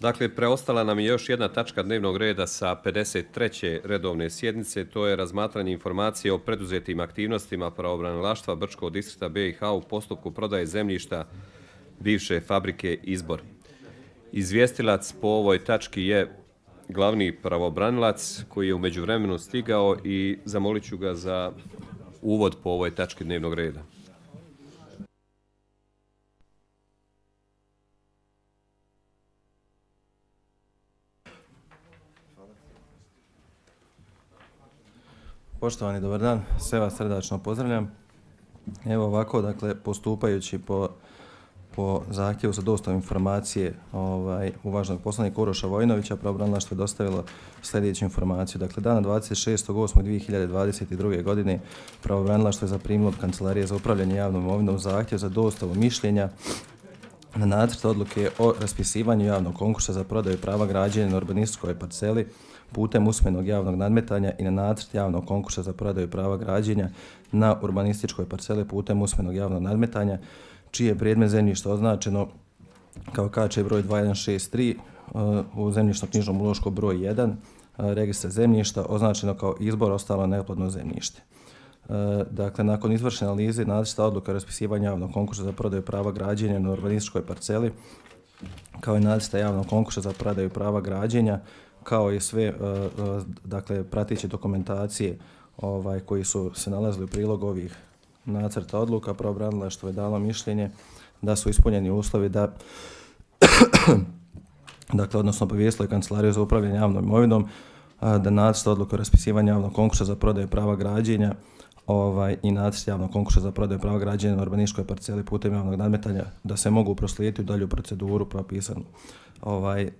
Dakle, preostala nam je još jedna tačka dnevnog reda sa 53. redovne sjednice, to je razmatranje informacije o preduzetim aktivnostima pravobranilaštva Brčkog distrikta BiH u postupku prodaje zemljišta bivše fabrike Izbor. Izvjestilac po ovoj tački je glavni pravobranilac koji je u međuvremenu stigao i zamolit ću ga za uvod po ovoj tački dnevnog reda. Poštovani, dobar dan, sve vas srdačno pozdravljam. Evo ovako, dakle, postupajući po zahtjevu za dostavu informacije uvaženog poslanika Uroša Vojinovića, pravobranilaštvo je dostavilo sljedeću informaciju. Dakle, dana 26.8.2022. godine pravobranilaštvo je zaprimilo od Kancelarije za upravljanje javnom imovinom zahtjev za dostavu mišljenja na nacrt odluke o raspisivanju javnog konkursa za prodaju prava građenja na urbanističkoj parceli putem usmenog javnog nadmetanja i na nacrt javnog konkursa za prodaju prava građenja na urbanističkoj parceli putem usmenog javnog nadmetanja, čiji je predmet zemljišta označeno kao KČ broj 2163 u zemljišno-knjižnom ulošku broj 1, registra zemljišta označeno kao Izbor, ostalo neplodno zemljište. Dakle, nakon izvršene analize nacrta odluka o raspisivanju javnog konkursa za prodaju prava građenja na urbanističkoj parceli, kao i nacrta javnog konkursa za prodaju prava građenja, kao i sve dakle, prateće dokumentacije koji su se nalazili u prilogu ovih nacrta odluka, pravobranilaštvo je dalo mišljenje da su ispunjeni uslovi da dakle, odnosno obavijestilo je Kancelariju za upravljanje javnom imovinom da nacrt odluka o raspisivanju javnog konkursa za prodaju prava građenja i nacrt javnog konkursa za prodaju prava građenja na urbanističkoj parceli putem javnog nadmetanja da se mogu proslijediti u dalju proceduru propisanu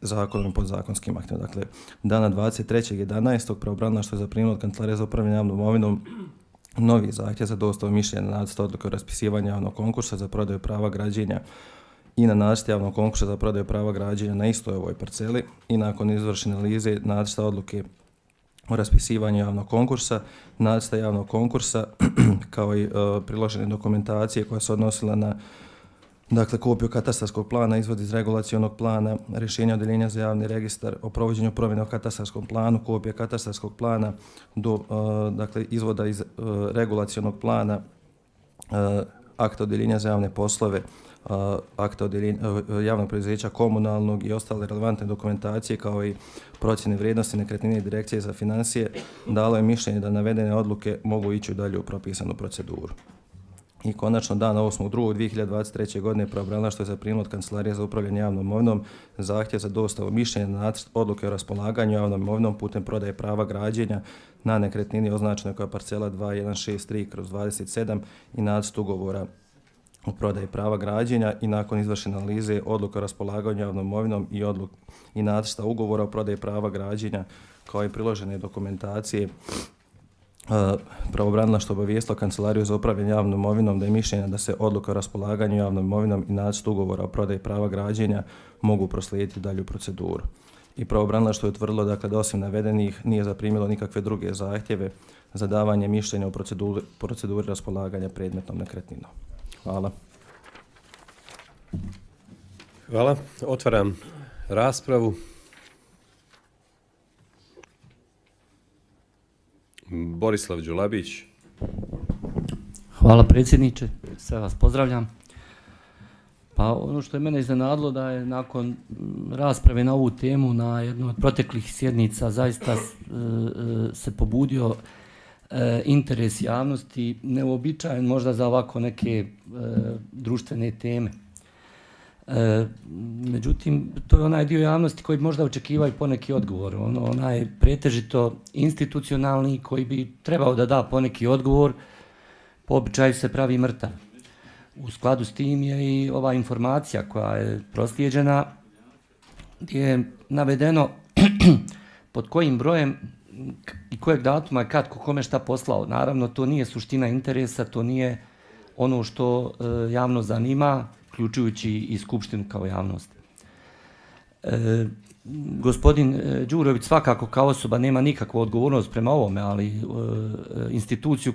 zakonom i podzakonskim aktima. Dakle, dana 23.11. pravobranilaštvo je zaprimilo od Kancelarije za upravljanje javnom imovinom novi zahtjev za dostavu mišljenja na nacrt odluke o raspisivanju javnog konkursa za prodaju prava građenja i na nacrt javnog konkursa za prodaju prava građenja na istoj ovoj parceli i nakon izvršene analize nacrta odluke o raspisivanju javnog konkursa, nacrta javnog konkursa kao i priložene dokumentacije koja se odnosila na dakle, kopiju katastarskog plana, izvod iz regulacionog plana, rješenja odjeljenja za javni registar o provođenju promjene u katastarskom planu, kopija katastarskog plana do dakle, izvoda iz regulacionog plana, akta odjeljenja za javne poslove, akta javnog preduzeća komunalnog i ostale relevantne dokumentacije kao i procjene vrijednosti nekretnine i direkcije za financije, dalo je mišljenje da navedene odluke mogu ići u dalju propisanu proceduru. I konačno dana 8.2.2023. godine pravobranilaštvo je zaprimilo od Kancelarije za upravljanje javnom imovinom zahtjev za dostavu mišljenja na nacrt odluke o raspolaganju javnom imovinom putem prodaje prava građenja na nekretnini označenoj kao parcela 2163/27 i nacrt ugovora o prodaji prava građenja i nakon izvršene analize odluka o raspolaganju javnom imovinom i nacrta ugovora o prodaji prava građenja kao i priložene dokumentacije, pravobranilaštvo obavijestilo Kancelariju za upravljanje javnom imovinom da je mišljenje da se odluka o raspolaganju javnom imovinom i nacrt ugovora o prodaji prava građenja mogu proslijediti dalju proceduru. I pravobranilaštvo je utvrdilo dakle, da osim navedenih nije zaprimilo nikakve druge zahtjeve za davanje mišljenja u proceduri raspolaganja predmetnom nekretninom. Hvala. Hvala. Otvaram raspravu. Borislav Đulabić. Hvala predsjedniče, sve vas pozdravljam. Pa ono što je mene iznenadilo da je nakon rasprave na ovu temu na jednoj od proteklih sjednica zaista se pobudio interes javnosti, neuobičajen možda za ovako neke društvene teme. Međutim, to je onaj dio javnosti koji možda očekivaju poneki odgovor. Onaj pretežito institucionalni koji bi trebao da da poneki odgovor, po običaju se pravi mrtav. U skladu s tim je i ova informacija koja je proslijeđena gdje je navedeno pod kojim brojem i kojeg datuma je kad kome šta poslao. Naravno, to nije suština interesa, to nije ono što javnost zanima, uključujući i Skupštinu kao javnost. Gospodin Đurović svakako kao osoba nema nikakvu odgovornost prema ovome, ali institucija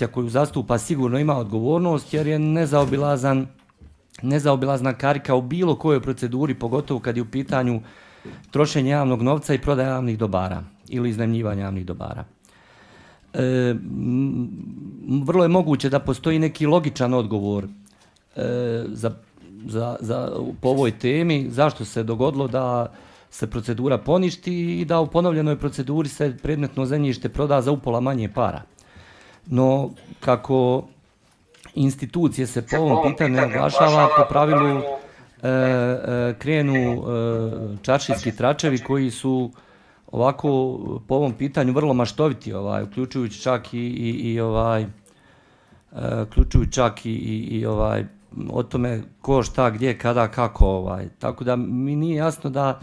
koju zastupa sigurno ima odgovornost jer je nezaobilazan nezaobilazna karika u bilo kojoj proceduri, pogotovo kad je u pitanju trošenje javnog novca i prodaja javnih dobara ili iznajmljivanje javnih dobara. Vrlo je moguće da postoji neki logičan odgovor po ovoj temi, zašto se dogodilo da se procedura poništi i da u ponovljenoj proceduri se predmetno zemljište proda za upola manje para. No, kako institucije se po ovom pitanju naglašava, po pravilu krenu čaršijski tračevi koji su ovako po ovom pitanju vrlo maštoviti, uključujući čak i o tome ko, šta, gdje, kada, kako. Tako da mi nije jasno da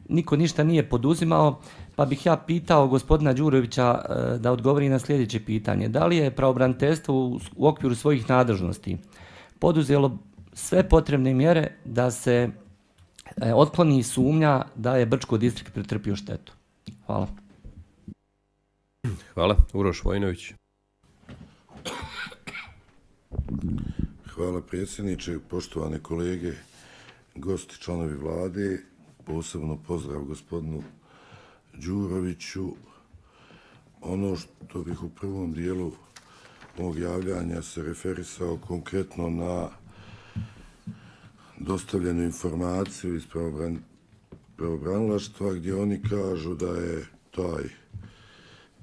niko ništa nije poduzimao, pa bih ja pitao gospodina Đurovića da odgovori na sljedeće pitanje. Da li je pravobraniteljstvo u okviru svojih nadležnosti poduzelo sve potrebne mjere da se otkloni sumnja da je Brčko distrikt pretrpio štetu? Hvala. Hvala. Uroš Vojinović. Hvala predsjedniče, poštovane kolege, gosti, članovi vlade, posebno pozdrav gospodinu Đuroviću. Ono što bih u prvom dijelu mog javljanja se referisao konkretno na dostavljenu informaciju iz pravobranilaštva gdje oni kažu da je taj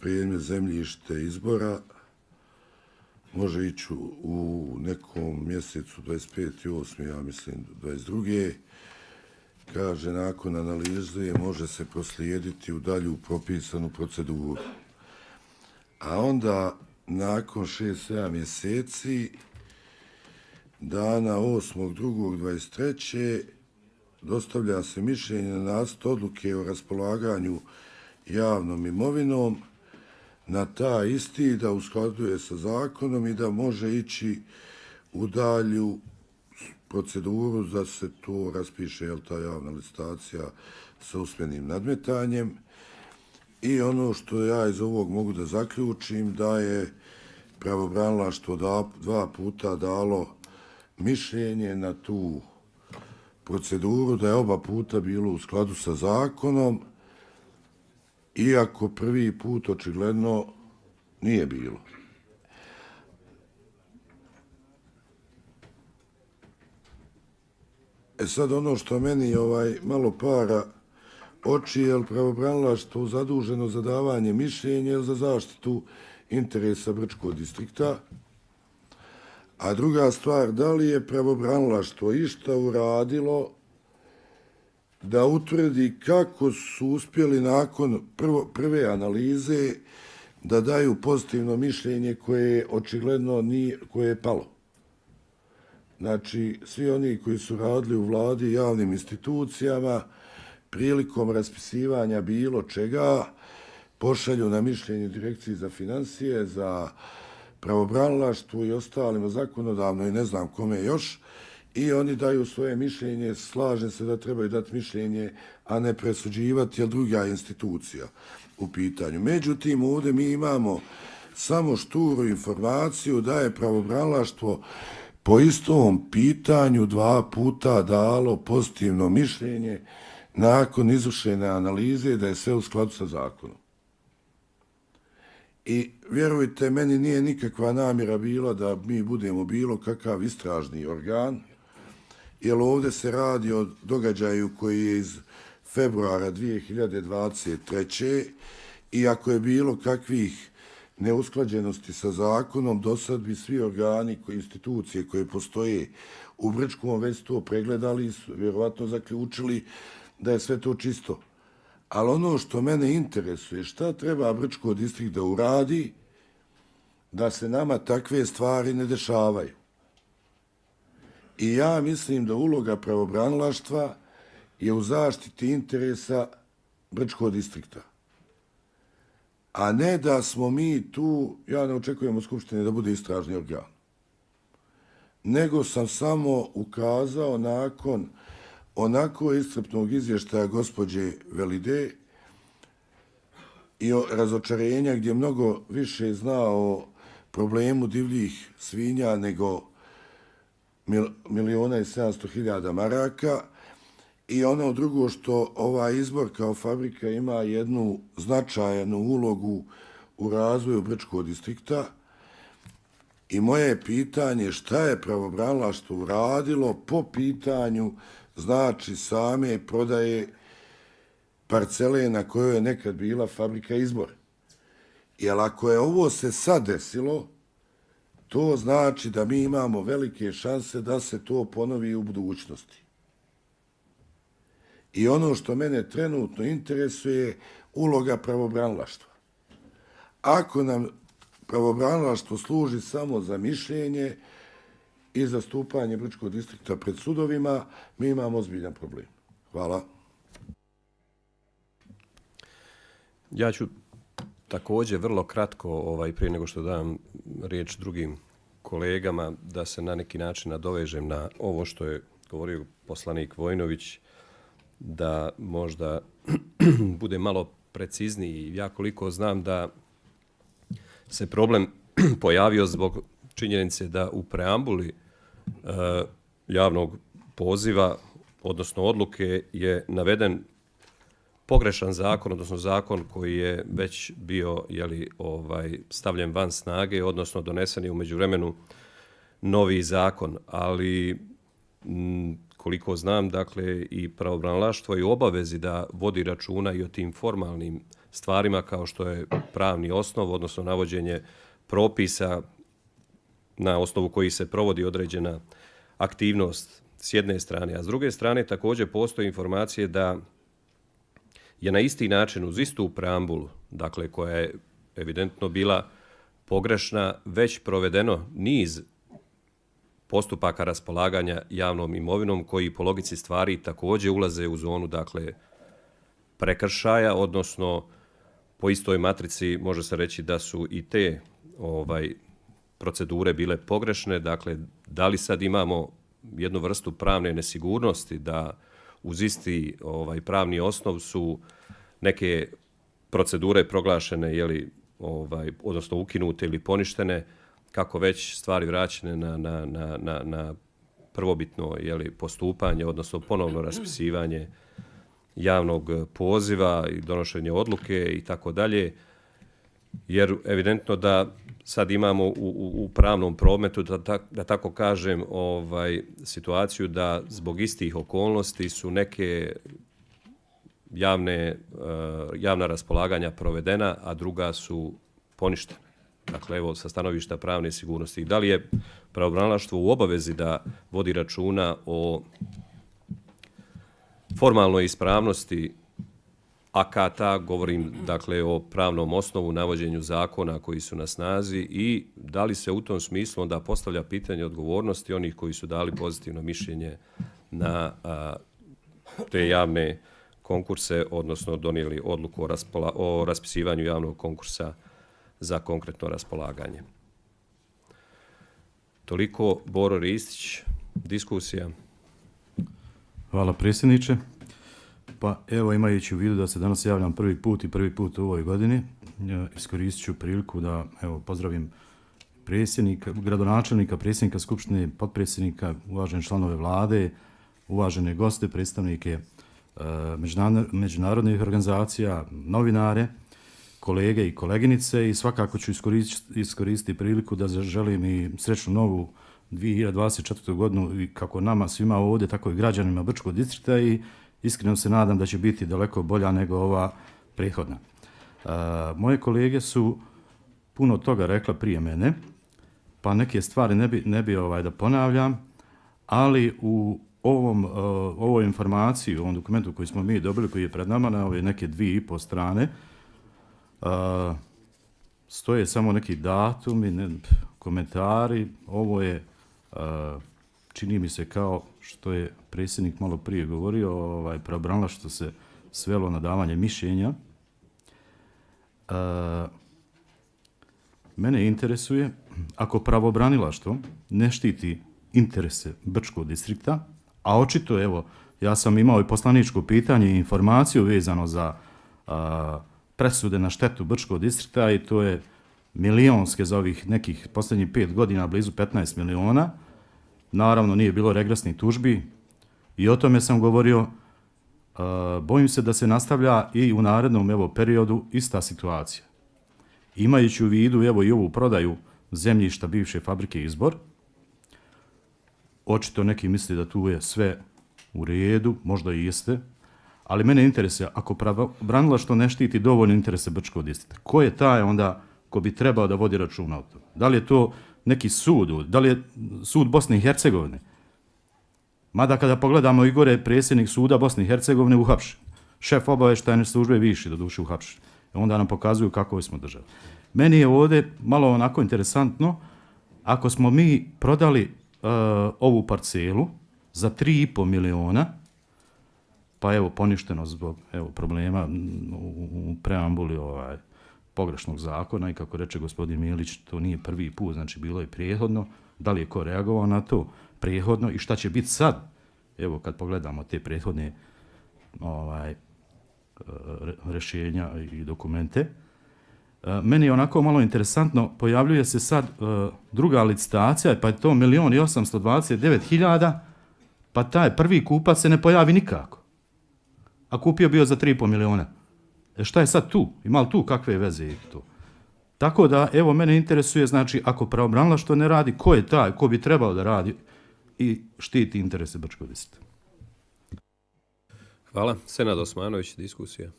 predmet zemljište izbora može ići u nekom mjesecu 25.8. ja mislim 22. Kaže, nakon analize može se proslijediti u dalju propisanu proceduru. A onda, nakon 6-7 mjeseci, dana 8.2.23. dostavlja se mišljenje na nacrt odluke o raspolaganju javnom imovinom na taj isti da usklađuje sa zakonom i da može ići u dalju proceduru da se to raspiše, ta javna licitacija sa usmenim nadmetanjem. I ono što ja iz ovog mogu da zaključim, da je pravobranilaštvo 2 puta dalo mišljenje na tu proceduru, da je oba puta bilo u skladu sa zakonom, iako prvi put očigledno nije bilo. Sad ono što meni malo para oči, je pravobranilaštvo zaduženo za davanje mišljenja za zaštitu interesa Brčkog distrikta. A druga stvar, da li je pravobranilaštvo išta uradilo da utvrdi kako su uspjeli nakon prve analize da daju pozitivno mišljenje koje očigledno nije, koje je palo. Znači, svi oni koji su radili u vladi i javnim institucijama prilikom raspisivanja bilo čega pošalju na mišljenje Direkciji za financije, za pravobranilaštvo i ostalima zakonodavno i ne znam kome još, i oni daju svoje mišljenje, slažem se da trebaju dati mišljenje, a ne presuđivati, jer druga institucija u pitanju. Međutim, ovdje mi imamo samo šturu informaciju da je pravobranilaštvo po istom pitanju 2 puta dalo pozitivno mišljenje nakon izvršene analize da je sve u skladu sa zakonom. I vjerujte, meni nije nikakva namjera bila da mi budemo bilo kakav istražni organ, jer ovdje se radi o događaju koji je iz februara 2023. I ako je bilo kakvih neusklađenosti sa zakonom, do sad bi svi organi, institucije koje postoje u Brčkom već to pregledali i vjerovatno zaključili da je sve to čisto. Ali ono što mene interesuje, šta treba Brčko distrikt da uradi da se nama takve stvari ne dešavaju. I ja mislim da uloga pravobranilaštva je u zaštiti interesa Brčkog distrikta. A ne da smo mi tu, ja ne očekujem od Skupštine da bude istražni organ, nego sam samo ukazao nakon onako iscrpnog izvještaja gospođe Velide i razočarenja gdje mnogo više zna o problemu divljih svinja nego miliona i 700.000 maraka. I ono drugo što ovaj izbor kao fabrika ima jednu značajnu ulogu u razvoju Brčkog distrikta. I moje je pitanje šta je pravobranilaštvo uradilo po pitanju znači same prodaje parcele na kojoj je nekad bila fabrika Izbor. Jer ako je ovo se sad desilo, to znači da mi imamo velike šanse da se to ponovi u budućnosti. I ono što mene trenutno interesuje je uloga pravobranilaštva. Ako nam pravobranilaštvo služi samo za mišljenje i zastupanje Brčkog distrikta pred sudovima, mi imamo ozbiljan problem. Hvala. Ja ću također vrlo kratko, prije nego što dam riječ drugim kolegama, da se na neki način nadovežem na ovo što je govorio poslanik Vojnović, da možda bude malo precizniji. Ja koliko znam da se problem pojavio zbog činjenice da u preambuli javnog poziva, odnosno odluke, je naveden pogrešan zakon, odnosno zakon koji je već bio stavljen van snage, odnosno donesen je u međuvremenu novi zakon, ali koliko znam, dakle, i pravobranilaštvo je u obavezi da vodi računa i o tim formalnim stvarima kao što je pravni osnov, odnosno navođenje propisa na osnovu kojih se provodi određena aktivnost s jedne strane, a s druge strane također postoje informacije da je na isti način uz istu preambulu, dakle koja je evidentno bila pogrešna, već provedeno niz postupaka raspolaganja javnom imovinom koji po logici stvari također ulaze u zonu, dakle, prekršaja, odnosno po istoj matrici može se reći da su i te procedure bile pogrešne. Dakle, da li sad imamo jednu vrstu pravne nesigurnosti da uz isti pravni osnov su neke procedure proglašene, odnosno ukinute ili poništene, kako već stvari vraćene na prvobitno postupanje, odnosno ponovno raspisivanje javnog poziva i donošenje odluke i tako dalje, jer evidentno da sad imamo u pravnom prometu, da tako kažem, situaciju da zbog istih okolnosti su neke javna raspolaganja provedena, a druga su poništena. Dakle, evo, sa stanovišta pravne sigurnosti. Da li je pravobranilaštvo u obavezi da vodi računa o formalnoj ispravnosti akata, govorim dakle o pravnom osnovu, navođenju zakona koji su na snazi, i da li se u tom smislu onda postavlja pitanje odgovornosti onih koji su dali pozitivno mišljenje na te javne konkurse, odnosno donijeli odluku o raspisivanju javnog konkursa za konkretno raspolaganje. Toliko, Boro Ristić, diskusija. Hvala predsjedniče. Pa evo, imajući u vidu da se danas javljam prvi put u ovoj godini, iskoristit ću priliku da pozdravim predsjednika, gradonačelnika, predsjednika Skupštine, potpredsjednika, uvažene članove vlade, uvažene goste, predstavnike međunarodnih organizacija, novinare, kolege i koleginice, i svakako ću iskoristiti priliku da zaželim i srećnu novu 2024. godinu i kako nama svima ovdje, tako i građanima Brčkog distrikta, i iskreno se nadam da će biti daleko bolja nego ova prethodna. Moje kolege su puno toga rekla prije mene, pa neke stvari ne bi da ponavljam, ali u ovoj informaciji, u ovom dokumentu koji smo mi dobili, koji je pred nama na ove neke 2,5 strane, stoje samo neki datumi, komentari. Ovo je, čini mi se, kao što je predsjednik malo prije govorio, pravobranilaštvo se svelo na davanje mišljenja. Mene interesuje, ako pravobranilaštvo ne štiti interese Brčkog distrikta, a očito, evo, ja sam imao i poslaničko pitanje i informaciju vezano za presude na štetu Brčkog distrikta, i to je milionske za ovih nekih posljednjih 5 godina, blizu 15 miliona. naravno nije bilo regresnih tužbi i o tome sam govorio. Bojim se da se nastavlja i u narednom periodu ista situacija. Imajući u vidu i ovu prodaju zemljišta bivše fabrike Izbor, očito neki misli da tu je sve u redu, možda i jeste, ali mene interesuje, ako pravobranilaštvo ne štiti dovoljno interese Brčkog distrikta, ko je taj onda ko bi trebao da vodi računa o tome? Da li je to neki sud, da li je sud Bosne i Hercegovine? Mada kada pogledamo i gore, predsjednik suda Bosne i Hercegovine uhapšen, šef obavještajne službe viši doduše uhapšen. Onda nam pokazuju kako smo država. Meni je ovdje malo onako interesantno, ako smo mi prodali ovu parcelu za 3,5 miliona, pa evo poništeno zbog problema u preambuli pogrešnog zakona i kako reče gospodin Milić, to nije prvi put, znači bilo je prijehodno, da li je ko reagovao na to prijehodno i šta će biti sad, evo kad pogledamo te prethodne rješenja i dokumente. Meni je onako malo interesantno, pojavljuje se sad druga licitacija, pa je to 1.829.000, pa taj prvi kupac se ne pojavi nikako. A kupio bio za 3,5 miliona. Šta je sad tu? Ima li tu kakve veze i to? Tako da, evo, mene interesuje, znači, ako pravobranilaštvo ne radi, ko je taj, ko bi trebao da radi i štiti interese Brčkog distrikta? Hvala. Senad Osmanović, diskusija.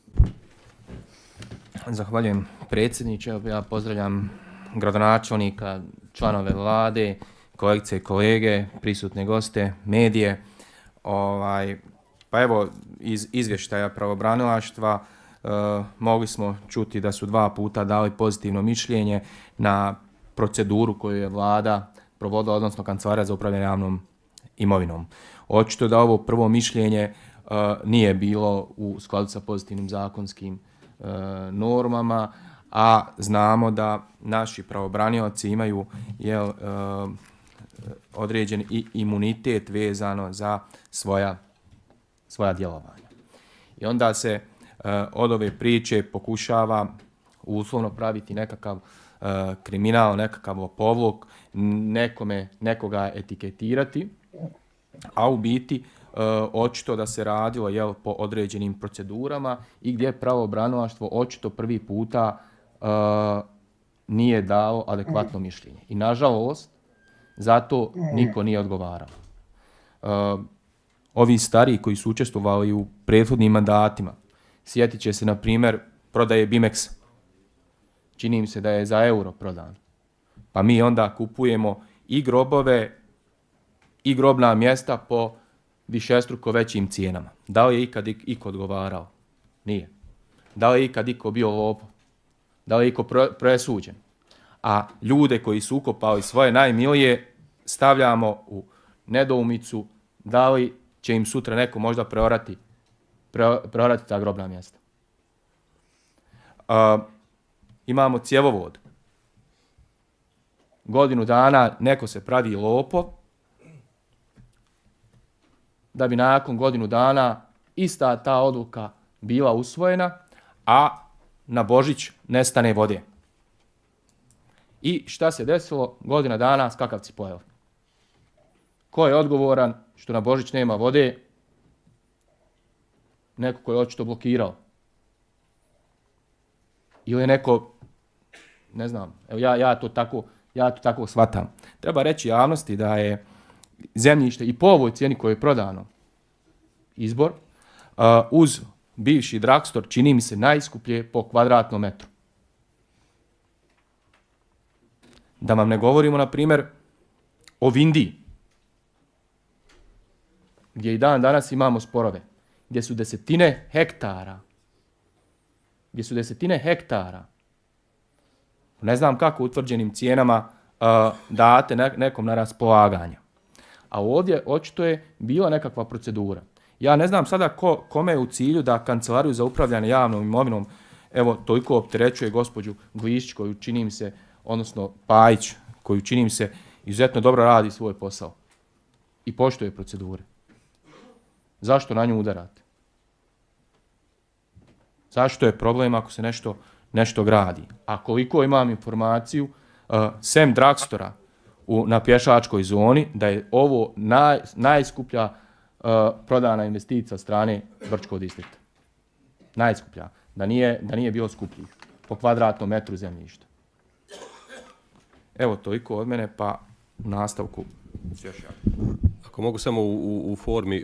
Zahvaljujem predsjedniče. Ja pozdravljam gradonačelnika, članove vlade, kolegice i kolege, prisutne goste, medije. Pa evo, iz izvještaja pravobranilaštva mogli smo čuti da su 2 puta dali pozitivno mišljenje na proceduru koju je vlada provodila, odnosno Kancelarija za upravljanje javnom imovinom. Očito da ovo prvo mišljenje nije bilo u skladu sa pozitivnim zakonskim normama, a znamo da naši pravobranioci imaju određen imunitet vezano za svoja djelovanja. I onda se od ove priče pokušava uslovno praviti nekakav kriminal, nekakav lopovluk, nekoga etiketirati, a u biti očito da se radilo po određenim procedurama i gdje pravobranilaštvo očito prvi puta nije dao adekvatno mišljenje. I nažalost, zato niko nije odgovarao. Ovi stariji koji su učestvovali u prethodnim mandatima, sjetit će se na primjer prodaje Bimexa. Čini mi se da je za euro prodan. Pa mi onda kupujemo i grobove i grobna mjesta po višestruko većim cijenama. Da li je ikad iko odgovarao? Nije. Da li je ikad iko bio lopov? Da li je iko presuđen? A ljude koji su ukopali svoje najmilije stavljamo u nedoumicu da li će im sutra neko možda preorati ta grobna mjesta. Imamo cjevovod. Godinu dana neko se pravi lopov, da bi nakon godinu dana ista ta odluka bila usvojena, a na Božić nestane vode. I šta se desilo? Godina dana skakavci pojeli. Ko je odgovoran što na Božić nema vode? Neko ko je očito blokirao. Ili neko, ne znam, evo ja to tako shvatam. Treba reći javnosti da je zemljište i po ovoj cijeni koje je prodano Izbor, uz bivši Dragstor, čini mi se najskuplje po kvadratnom metru. Da vam ne govorimo, na primjer, o Vindiji, gdje i dan danas imamo sporove, gdje su desetine hektara, ne znam kako utvrđenim cijenama date nekom na raspolaganje. A ovdje očito je bila nekakva procedura. Ja ne znam sada kome je u cilju da Kancelariju za upravljanje javnom imovinom evo toliko opterećuje gospođu Glišić, koju čini mi se, odnosno Pajić, koju čini mi se izuzetno dobro radi svoj posao i poštuje procedure. Zašto na nju udarate? Zašto je problem ako se nešto gradi? A koliko imam informaciju, sem Dragstora, na pješačkoj zoni, da je ovo najskuplja prodana investicija strane Brčkog distrikta. Najskuplja. Da nije bilo skupljih po kvadratnom metru zemljišta. Evo, toliko od mene, pa u nastavku još ja. Ako mogu samo u formi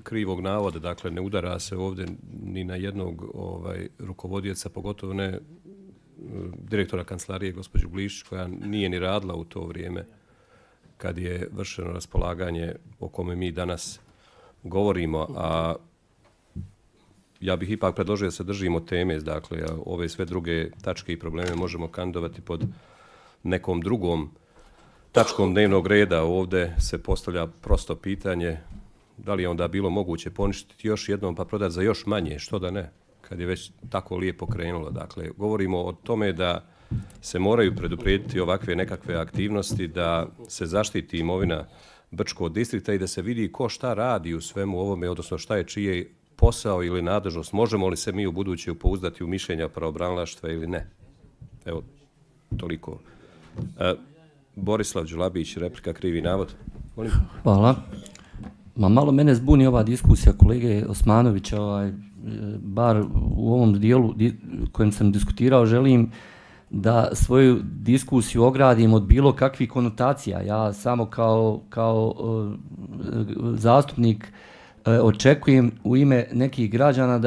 krivog navoda, dakle ne udara se ovdje ni na jednog rukovodioca, pogotovo ne direktora kancelarije gospođu Blišić, koja nije ni radila u to vrijeme kad je vršeno raspolaganje o kome mi danas govorimo, a ja bih ipak predložio da se držimo teme, dakle ove sve druge tačke i probleme možemo kandidovati pod nekom drugom tačkom dnevnog reda. Ovdje se postavlja prosto pitanje da li je onda bilo moguće poništiti još jednom pa prodati za još manje, što da ne, kad je već tako lijepo krenulo. Dakle, govorimo o tome da se moraju preduprijediti ovakve nekakve aktivnosti, da se zaštiti imovina Brčkog distrikta i da se vidi ko šta radi u svemu ovome, odnosno šta je čije posao ili nadležnost. Možemo li se mi u buduće pouzdati u mišljenja pravobranilaštva ili ne? Evo, toliko. Borislav Đulabić, replika, krivi navod. Molim. Hvala. Malo mene zbuni ova diskusija kolege Osmanovića, bar u ovom dijelu kojem sam diskutirao, želim da svoju diskusiju ogradim od bilo kakvih konotacija. Ja samo kao zastupnik očekujem u ime nekih građana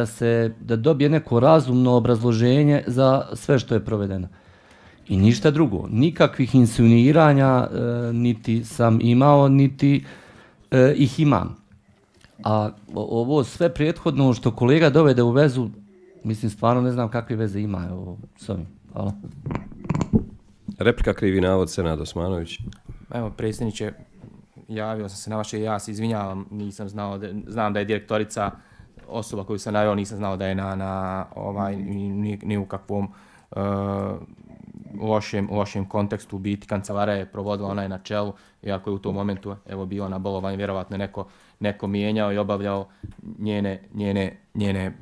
da dobije neko razumno obrazloženje za sve što je provedeno. I ništa drugo. Nikakvih insinuiranja niti sam imao, niti ih imam. A ovo sve prethodno što kolega dovede u vezu, mislim stvarno ne znam kakve veze ima s ovim. Hvala. Replika, krivi navod, Senad Osmanović. Evo, predsjedniče, javio sam se na vaše, ja se izvinjavam, nisam znao, znam da je direktorica osoba koju sam naveo, nisam znao da je ni u kakvom lošem kontekstu biti. Kancelara je provodila, ona je na čelu, iako je u tom momentu bio na bolovanju, vjerovatno je neko mijenjao i obavljao njene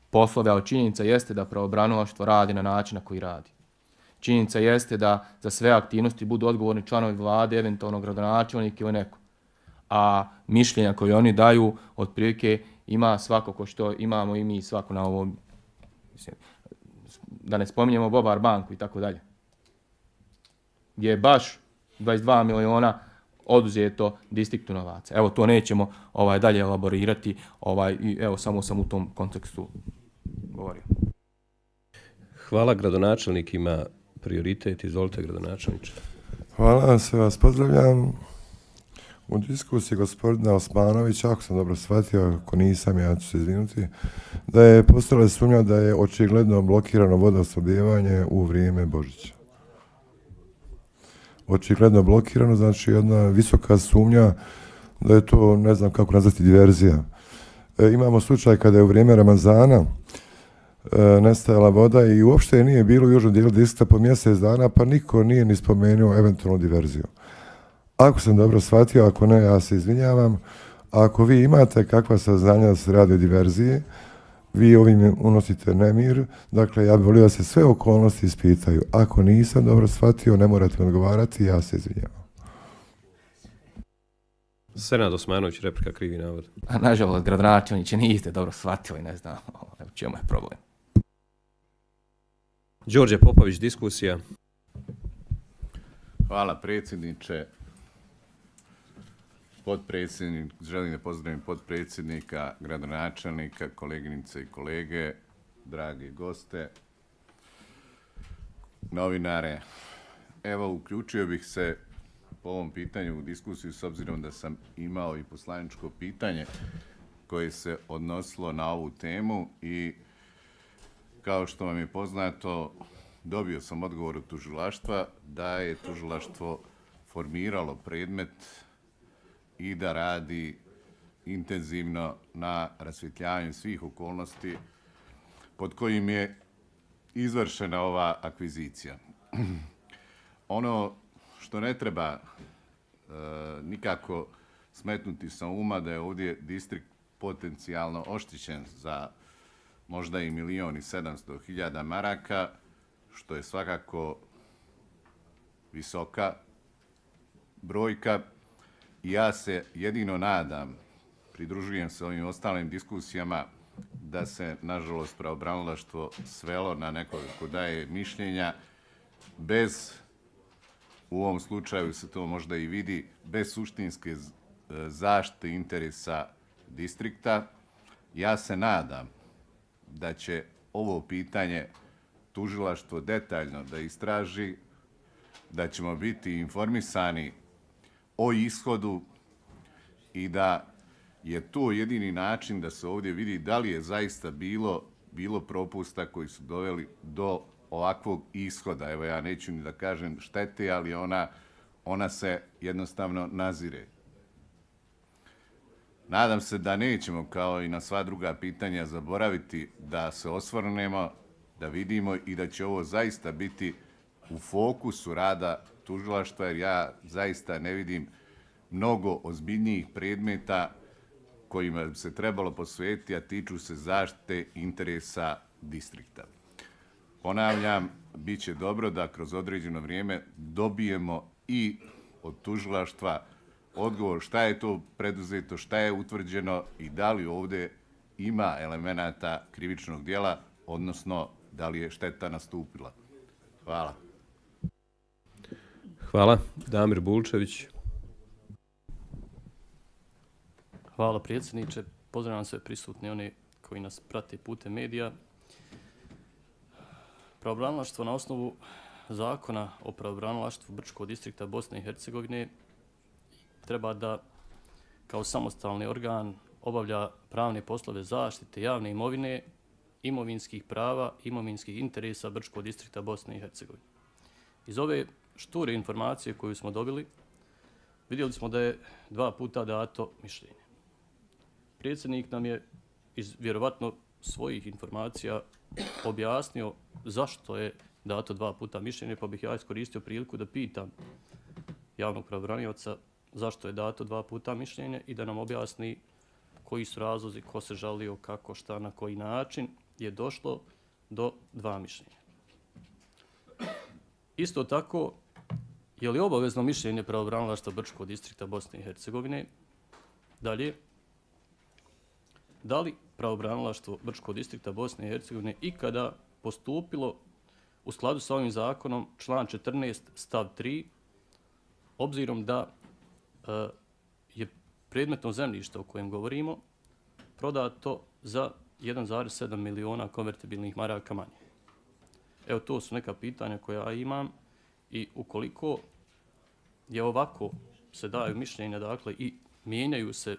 poslove, ali činjenica jeste da pravobranilaštvo radi na način na koji radi. Činjenica jeste da za sve aktivnosti budu odgovorni članovi vlade, eventualno gradonačelnik ili neko. A mišljenja koje oni daju, otprilike ima svako ko što imamo i mi svako na ovom, da ne spominjemo Bobar banku i tako dalje. Gdje je baš 22 miliona oduzeto distriktu novaca. Evo, to nećemo dalje elaborirati, i evo, samo sam u tom kontekstu govorio. Hvala, gradonačelnik ima prioritet. Izvolite, gradonačelniče. Hvala, sve vas pozdravljam. U diskusiji gospodina Osmanovića, ako sam dobro shvatio, ako nisam, ja ću se izvinuti, da je postala sumnja da je očigledno blokirano vodosnabdijevanje u vrijeme Božića. Očigledno blokirano, znači jedna visoka sumnja da je to, ne znam kako nazvati, diverzija. Imamo slučaj kada je u vrijeme Ramazana nestajala voda i uopšte nije bilo u južnom dijelu distrikta po mjesec dana, pa niko nije ni spomenuo eventualnu diverziju. Ako sam dobro shvatio, ako ne, ja se izvinjavam. Ako vi imate kakva saznanja da se radi o diverziji, vi ovim unosite nemir. Dakle, ja bih volio da se sve okolnosti ispitaju. Ako nisam dobro shvatio, ne morate mi odgovarati, ja se izvinjavam. Senad Osmanović, replika, krivi navod. Nažalost, gradonačelniče, niste dobro shvatili, ne znam u čemu je problem. Đorđe Popović, diskusija. Hvala predsjedniče. Želim da pozdravim potpredsjednika, gradonačelnika, koleginice i kolege, dragi goste, novinare. Evo, uključio bih se po ovom pitanju u diskusiju s obzirom da sam imao i poslaničko pitanje koje se odnosilo na ovu temu i kao što vam je poznato, dobio sam odgovor od tužilaštva da je tužilaštvo formiralo predmet i da radi intenzivno na rasvjetljavanju svih okolnosti pod kojim je izvršena ova akvizicija. Ono što ne treba nikako smetnuti sa uma da je ovdje distrikt potencijalno oštećen za možda i 1.700.000 maraka, što je svakako visoka brojka i ja se jedino nadam, pridružujem se ovim ostalim diskusijama, da se, nažalost, pravobranilaštvo svelo na nekoga ko daje mišljenja bez, u ovom slučaju se to možda i vidi, bez suštinske zaštite interesa distrikta. Ja se nadam da će ovo pitanje tužilaštvo detaljno da istraži, da ćemo biti informisani o ishodu i da je to jedini način da se ovdje vidi da li je zaista bilo propusta koji su doveli do ovakvog ishoda. Evo, ja neću ni da kažem štete, ali ona se jednostavno nazire. Nadam se da nećemo, kao i na sva druga pitanja, zaboraviti da se osvrnemo, da vidimo i da će ovo zaista biti u fokusu rada tužilaštva, jer ja zaista ne vidim mnogo ozbiljnijih predmeta kojima bi se trebalo posvetiti, a tiču se zaštite interesa distrikta. Ponavljam, bit će dobro da kroz određeno vrijeme dobijemo i od tužilaštva odgovor šta je to preduzeto, šta je utvrđeno i da li ovdje ima elemenata krivičnog djela, odnosno da li je šteta nastupila. Hvala. Hvala. Damir Bulčević. Hvala predsjedniče. Pozdravljam sve prisutne one koji nas prate putem medija. Pravobranilaštvo na osnovu zakona o pravobranilaštvu Brčkog distrikta Bosne i Hercegovine treba da kao samostalni organ obavlja pravne poslove zaštite javne imovine, imovinskih prava, imovinskih interesa Brčkog distrikta Bosne i Hercegovine. Iz ove šture informacije koju smo dobili, vidjeli smo da je 2 puta dato mišljenje. Predsjednik nam je iz vjerovatno svojih informacija objasnio zašto je dato 2 puta mišljenje, pa bih ja iskoristio priliku da pitam javnog pravobranioca zašto je dato 2 puta mišljenje i da nam objasni koji su razlozi, ko se žalio, kako, šta, na koji način je došlo do 2 mišljenja. Isto tako, je li obavezno mišljenje pravobranilaštva Brčkog distrikta Bosne i Hercegovine? Dalje, da li pravobranilaštvo Brčkog distrikta Bosne i Hercegovine ikada postupilo u skladu sa ovim zakonom, član 14 stav 3, obzirom da je predmetno zemljište o kojem govorimo prodato za 1,7 miliona konvertibilnih maraka manje. Evo, to su neka pitanja koja imam i ukoliko je ovako se daju mišljenja, dakle, i mijenjaju se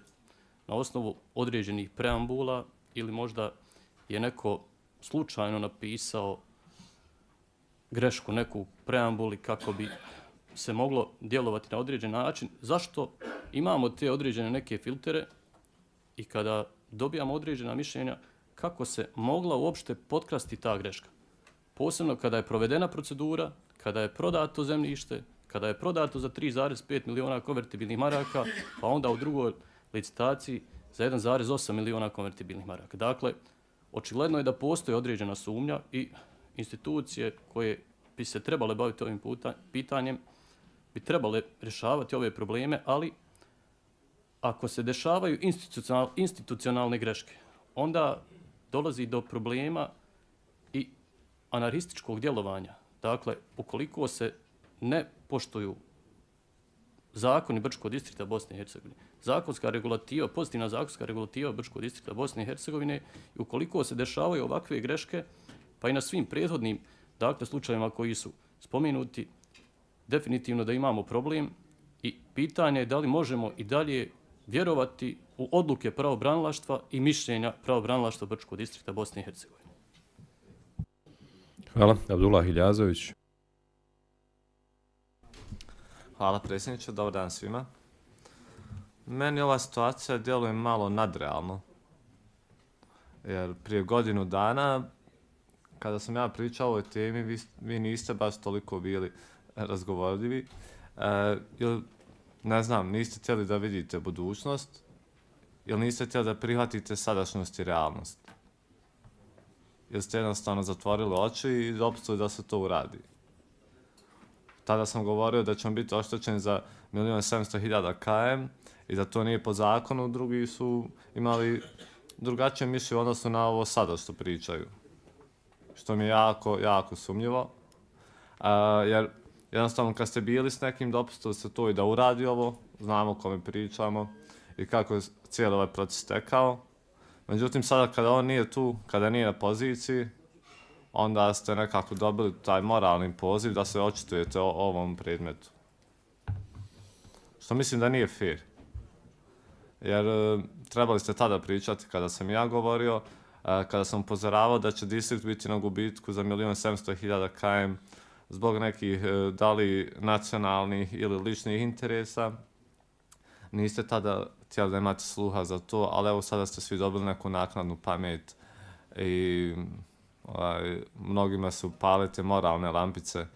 na osnovu određenih preambula ili možda je neko slučajno napisao grešku neku preambuli kako bi se moglo djelovati na određen način, zašto imamo te određene neke filtere i kada dobijamo određena mišljenja, kako se mogla uopšte potkrasti ta greška. Posebno kada je provedena procedura, kada je prodato zemljište, kada je prodato za 3,5 miliona konvertibilnih maraka, pa onda u drugoj licitaciji za 1,8 miliona konvertibilnih maraka. Dakle, očigledno je da postoji određena sumnja i institucije koje bi se trebale baviti ovim pitanjem bi trebale rješavati ove probleme, ali ako se dešavaju institucionalne greške, onda dolazi do problema i anarhističkog djelovanja. Dakle, ukoliko se ne poštuju zakoni Brčkog distrikta Bosne i Hercegovine, zakonska regulativa, pozitivna zakonska regulativa Brčkog distrikta Bosne i Hercegovine, i ukoliko se dešavaju ovakve greške, pa i na svim prethodnim, dakle, slučajevima koji su spomenuti, definitivno da imamo problem i pitanje je da li možemo i dalje vjerovati u odluke pravobranilaštva i mišljenja pravobranilaštva Brčkog distrikta Bosne i Hercegovine. Hvala. Abdullah Iljazović. Hvala predsjedniče, dobar dan svima. Meni ova situacija djeluje malo nadrealno. Jer prije godinu dana, kada sam ja pričao o ovoj temi, vi niste baš toliko bili razgovorljivi. Ne znam, niste htjeli da vidite budućnost ili niste htjeli da prihvatite sadašnjost i realnost. Jer ste jednostavno zatvorili oči i dopustili da se to uradi. Tada sam govorio da ćemo biti oštećeni za 1.700.000 km i da to nije po zakonu, drugi su imali drugačije mišljenje u odnosu na ovo sada što pričaju. Što mi je jako, jako sumnjivo. Jer jednostavno kad ste bili s nekim dopustili se to i da uradi ovo, znamo o kome pričamo i kako je cijeli ovaj proces tekao. Međutim, sada kada on nije tu, kada nije na poziciji, onda ste nekako dobili taj moralni poziv da se očitujete o ovom predmetu. Što mislim da nije fair. Jer trebali ste tada pričati kada sam ja govorio, kada sam upozoravao da će distrikt biti na gubitku za 1.700.000 km zbog nekih da li nacionalnih ili ličnih interesa. Niste tada htjeli da imate sluha za to, ali evo sada ste svi dobili neku naknadnu pamet i mnogima su pale te moralne lampice,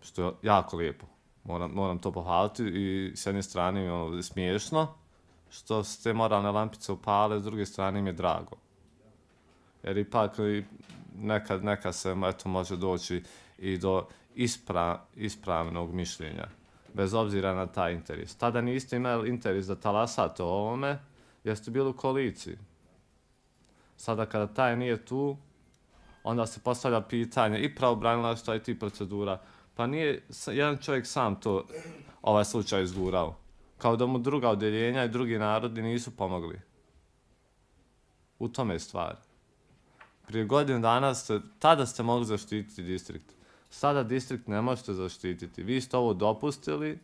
što je jako lijepo. Moram to pohvaliti i s jedne strane je smiješno što se te moralne lampice upale, s druge strane im je drago. Jer ipak nekad se može doći i do ispravnog mišljenja, bez obzira na taj interes. Tada niste imali interes da talasate o ovome, jer ste bili u koaliciji. Sada kada taj nije tu, onda se postavlja pitanje i pravobranilaštva i tih procedura. Pa nije jedan čovjek sam to ovaj slučaj izgurao. Kao da mu druga odjeljenja i drugi narodi nisu pomogli. U tome je stvar. Prije godinu dana tada ste mogli zaštititi distrikt. Sada distrikt ne možete zaštititi. Vi ste ovo dopustili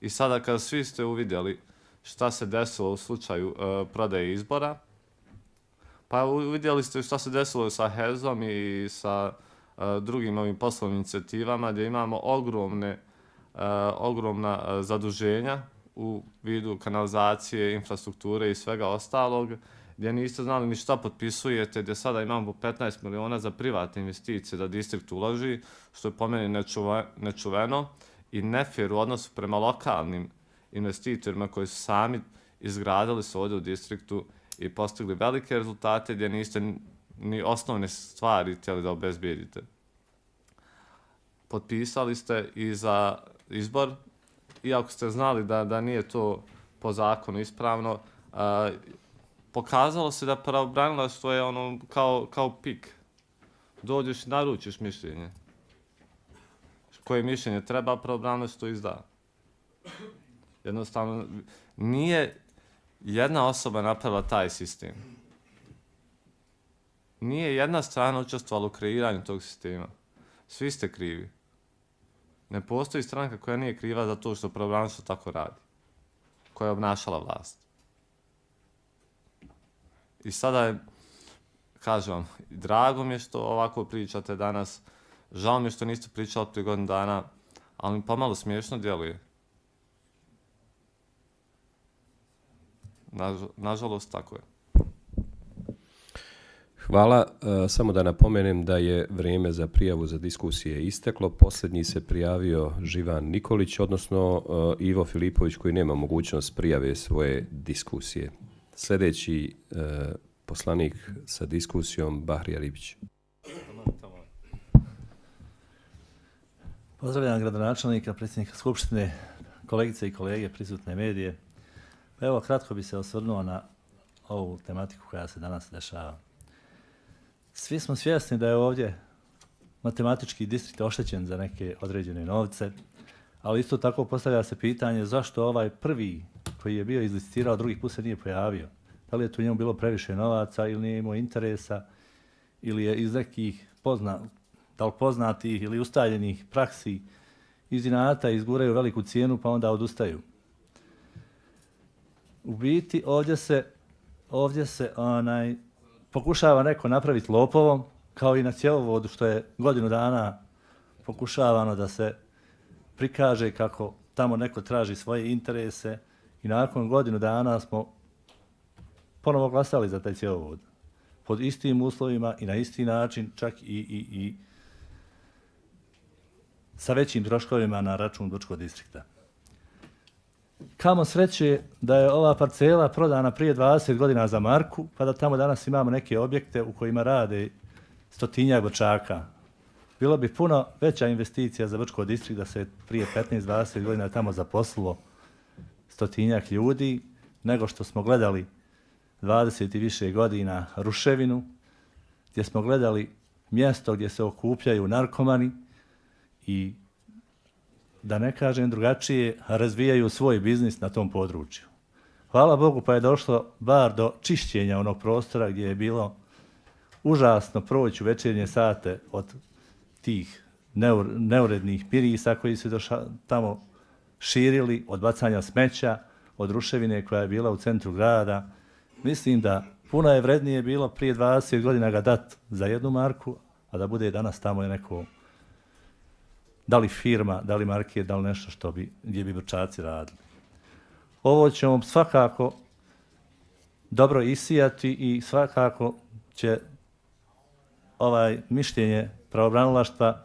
i sada kada svi ste uvidjeli šta se desilo u slučaju prodaje izbora, pa uvidjeli ste šta se desilo sa HEZ-om i sa drugim ovim poslovnim inicijativama gdje imamo ogromna zaduženja u vidu kanalizacije, infrastrukture i svega ostalog, gdje niste znali ni šta potpisujete, gdje sada imamo 15 miliona za privatne investicije da distrikt uloži, što je po meni nečuveno i nefair u odnosu prema lokalnim investitorima koji su sami izgradili se ovdje u distriktu i postigli velike rezultate gdje niste ni osnovne stvari htjeli da obezbijedite. Potpisali ste i za izbor, iako ste znali da nije to po zakonu ispravno, pokazalo se da pravobranilaštvo je ono kao pik. Dođeš i naručiš mišljenje. Koje mišljenje treba, pravobranilaštvo izda. Jednostavno, nije jedna osoba napravila taj sistem. Nije jedna strana učestvovala u kreiranju tog sistema. Svi ste krivi. Ne postoji stranka koja nije kriva za to što pravobranilaštvo tako radi. Koja je obnašala vlast. I sada je, kažem vam, drago mi je što ovako pričate danas. Žao mi je što niste pričali prije godinu dana, ali mi pomalo smiješno djeluje. Nažalost, tako je. Hvala. Samo da napomenem da je vrijeme za prijavu za diskusije isteklo. Posljednji se prijavio Živan Nikolić, odnosno Ivo Filipović, koji nema mogućnost prijave svoje diskusije. Sljedeći poslanik sa diskusijom, Bahrija Ribić. Pozdravljam gradonačelnika, predsjednika Skupštine, kolegice i kolege, prisutne medije. Evo, kratko bi se osvrnuo na ovu tematiku koja se danas dešava. Svi smo svjesni da je ovdje matematički distrikt oštećen za neke određene novce, ali isto tako postavlja se pitanje zašto ovaj prvi koji je bio izlicitirao, drugi put se nije pojavio. Da li je tu njemu bilo previše novaca ili nije imao interesa ili je iz nekih poznatih ili ustaljenih praksi iz inata izguraju veliku cijenu pa onda odustaju. U biti ovdje se pokušava neko napraviti lopovom, kao i na cjevovodu što je godinu dana pokušavano da se prikaže kako tamo neko traži svoje interese i nakon godinu dana smo ponovo glasali za taj cjevovod. Pod istim uslovima i na isti način, čak i sa većim troškovima na račun Brčkog distrikta. Kamo sreće da je ova parcela prodana prije 20 godina za marku, pa da tamo danas imamo neke objekte u kojima rade 100-tinjak Brčaka. bilo bi puno veća investicija za Brčko distrikt da se prije 15-20 godina tamo zaposlilo 100-tinjak ljudi, nego što smo gledali 20 i više godina ruševinu, gdje smo gledali mjesto gdje se okupljaju narkomani i, da ne kažem drugačije, razvijaju svoj biznis na tom području. Hvala Bogu pa je došlo bar do čišćenja onog prostora gdje je bilo užasno proći u večernje sate od tih neurednih mirisa koji su tamo širili, od bacanja smeća, od ruševine koja je bila u centru grada. Mislim da puno je vrednije bilo prije 20 godina ga dat za 1 marku, a da bude danas tamo je neko, da li firma, da li market, da li nešto gdje bi Brčaci radili. Ovo ćemo svakako dobro isijati i svakako će mišljenje pravobranilaštva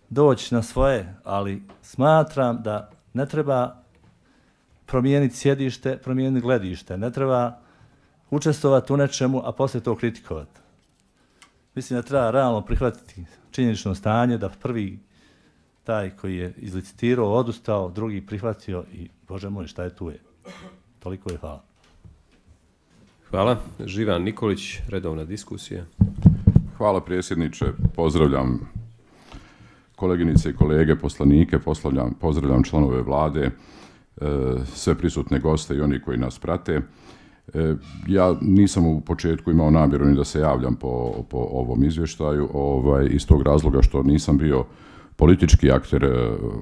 doći na svoje, ali smatram da ne treba promijeniti sjedište, promijeniti gledište, ne treba učestvovati u nečemu, a poslije to kritikovati. Mislim da treba realno prihvatiti činjenično stanje, da prvi taj koji je izlicitirao, odustao, drugi prihvatio i Bože moj, šta je tu je. Toliko je, hvala. Hvala. Živan Nikolić, redovna diskusija. Hvala predsjedniče, pozdravljam koleginice i kolege, poslanike, pozdravljam članove vlade, sve prisutne goste i oni koji nas prate. Ja nisam u početku imao namjeru ni da se javljam po ovom izvještaju, iz tog razloga što nisam bio politički akter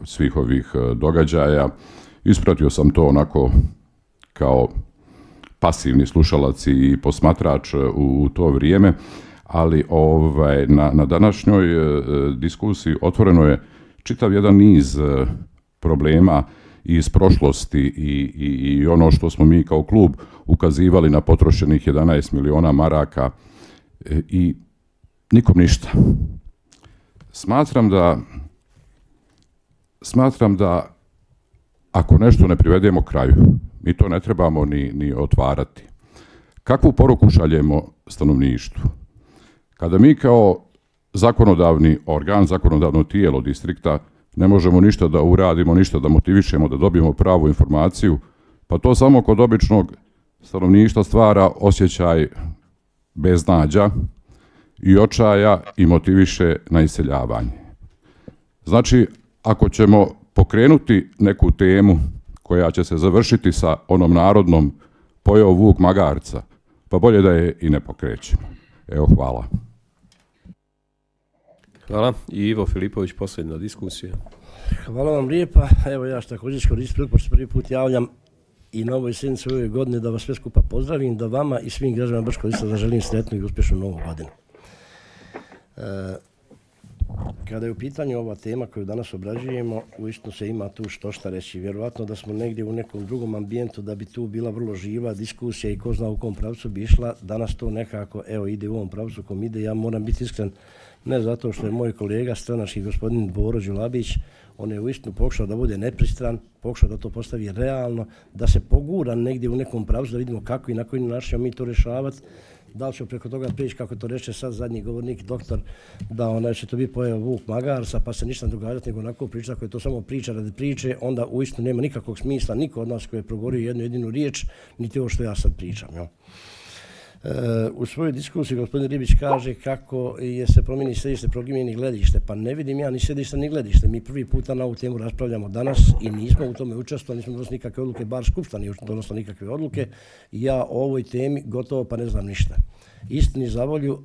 svih ovih događaja. Ispratio sam to onako kao pasivni slušalac i posmatrač u to vrijeme, ali na današnjoj diskusiji otvoreno je čitav jedan niz problema iz prošlosti i ono što smo mi kao klub ukazivali na potrošenih 11 miliona maraka i nikom ništa. Smatram da ako nešto ne privedemo kraju, mi to ne trebamo ni otvarati. Kakvu poruku šaljemo stanovništvu? Kada mi kao zakonodavni organ, zakonodavno tijelo distrikta ne možemo ništa da uradimo, ništa da motivišemo, da dobijemo pravu informaciju, pa to samo kod običnog stanovništva stvara osjećaj beznađa i očaja i motiviše na iseljavanje. Znači, ako ćemo pokrenuti neku temu koja će se završiti sa onom narodnom pojeo vuk magarca, pa bolje da je i ne pokrećemo. Evo, hvala. Hvala. I Ivo Filipović, posljedna diskusija. Hvala vam lijepa. Evo ja što također iskoristim priliku što prvi put javljam i na ovoj sjednici ove godine da vas sve skupa pozdravim, da vama i svim građanima Brčkog distrikta zaželim sretnu i uspješnu novu godinu. Kada je u pitanju ova tema koju danas obrađujemo, uistinu se ima tu šta reći. Vjerovatno da smo negdje u nekom drugom ambijentu da bi tu bila vrlo živa diskusija i ko zna u kom pravcu bi išla. Danas to nekako ide u ovom pravcu kom ide. Ja moram biti iskren, ne zato što je moj kolega stranački gospodin Boro Đulabić, on je uistinu pokušao da bude nepristran, pokušao da to postavi realno, da se pogura negdje u nekom pravcu, da vidimo kako i na koji način ćemo mi to rješavati. Da li ćemo preko toga prići, kako to reče sad zadnji govornik, doktor, da će to biti pojeo vuk magarca, pa se ništa ne događati, nego onako priča, ako je to samo priča radi priče, onda uistinu nema nikakvog smisla, niko od nas koji je progovorio jednu jedinu riječ, niti ovo što ja sad pričam. Jel? U svojoj diskusiji gospodin Ribić kaže kako se promijeni sjedište, promijeni gledište. Pa ne vidim ja ni sjedište ni gledište. Mi prvi puta na ovu temu raspravljamo danas i nismo u tome učestvovali, nismo donosili nikakve odluke, bar Skupština nije donosila nikakve odluke. Ja o ovoj temi gotovo pa ne znam ništa. Istini za volju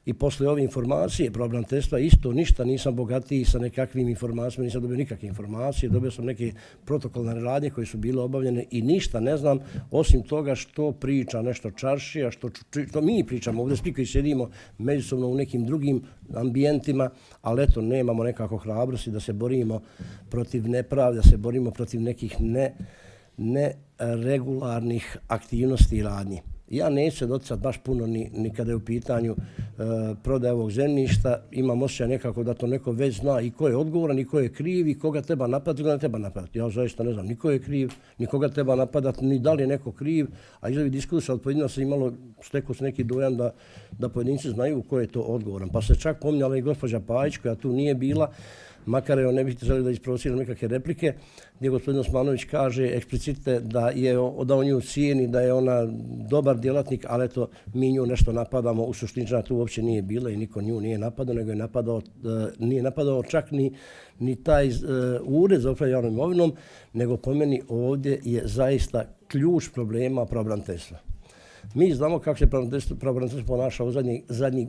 i posle ove informacije pravobraniteljstva isto ništa nisam bogatiji sa nekakvim informacijama, nisam dobio nikakve informacije, dobio sam neke protokolne radnje koje su bile obavljene i ništa ne znam osim toga što priča nešto čaršija, što mi pričamo ovdje, svi koji sjedimo međusobno u nekim drugim ambijentima, ali eto nemamo nekako hrabrosti da se borimo protiv nepravde, da se borimo protiv nekih neregularnih aktivnosti i radnji. Ja neću se doticati baš puno ni kada je u pitanju prodaje ovog zemljišta. Imam osjećaj nekako da to neko već zna i ko je odgovoran i ko je kriv i koga treba napadati i koga ne treba napadati. Ja zaista ne znam ni ko je kriv, ni koga treba napadati, ni da li je neko kriv, a iz ovih diskusija od pojedinaca imalo stekao se neki dojam da pojedinci znaju ko je to odgovoran. Pa se čak pominjala i gospođa Pajić koja tu nije bila, makar ne bih želio da isprovociram nekakve replike, gdje gospodin Osmanović kaže eksplicite da on nju cijeni, da je ona dobar djelatnik, ali eto, mi nju nešto napadamo, u suštini tu uopće nije bila i niko nju nije napadao, nego je nije napadao čak ni taj ured za upravljanje javnom imovinom, nego po meni ovdje je zaista ključ problema pravobraniteljstva. Mi znamo kako se pravobraniteljstvo ponaša u zadnjih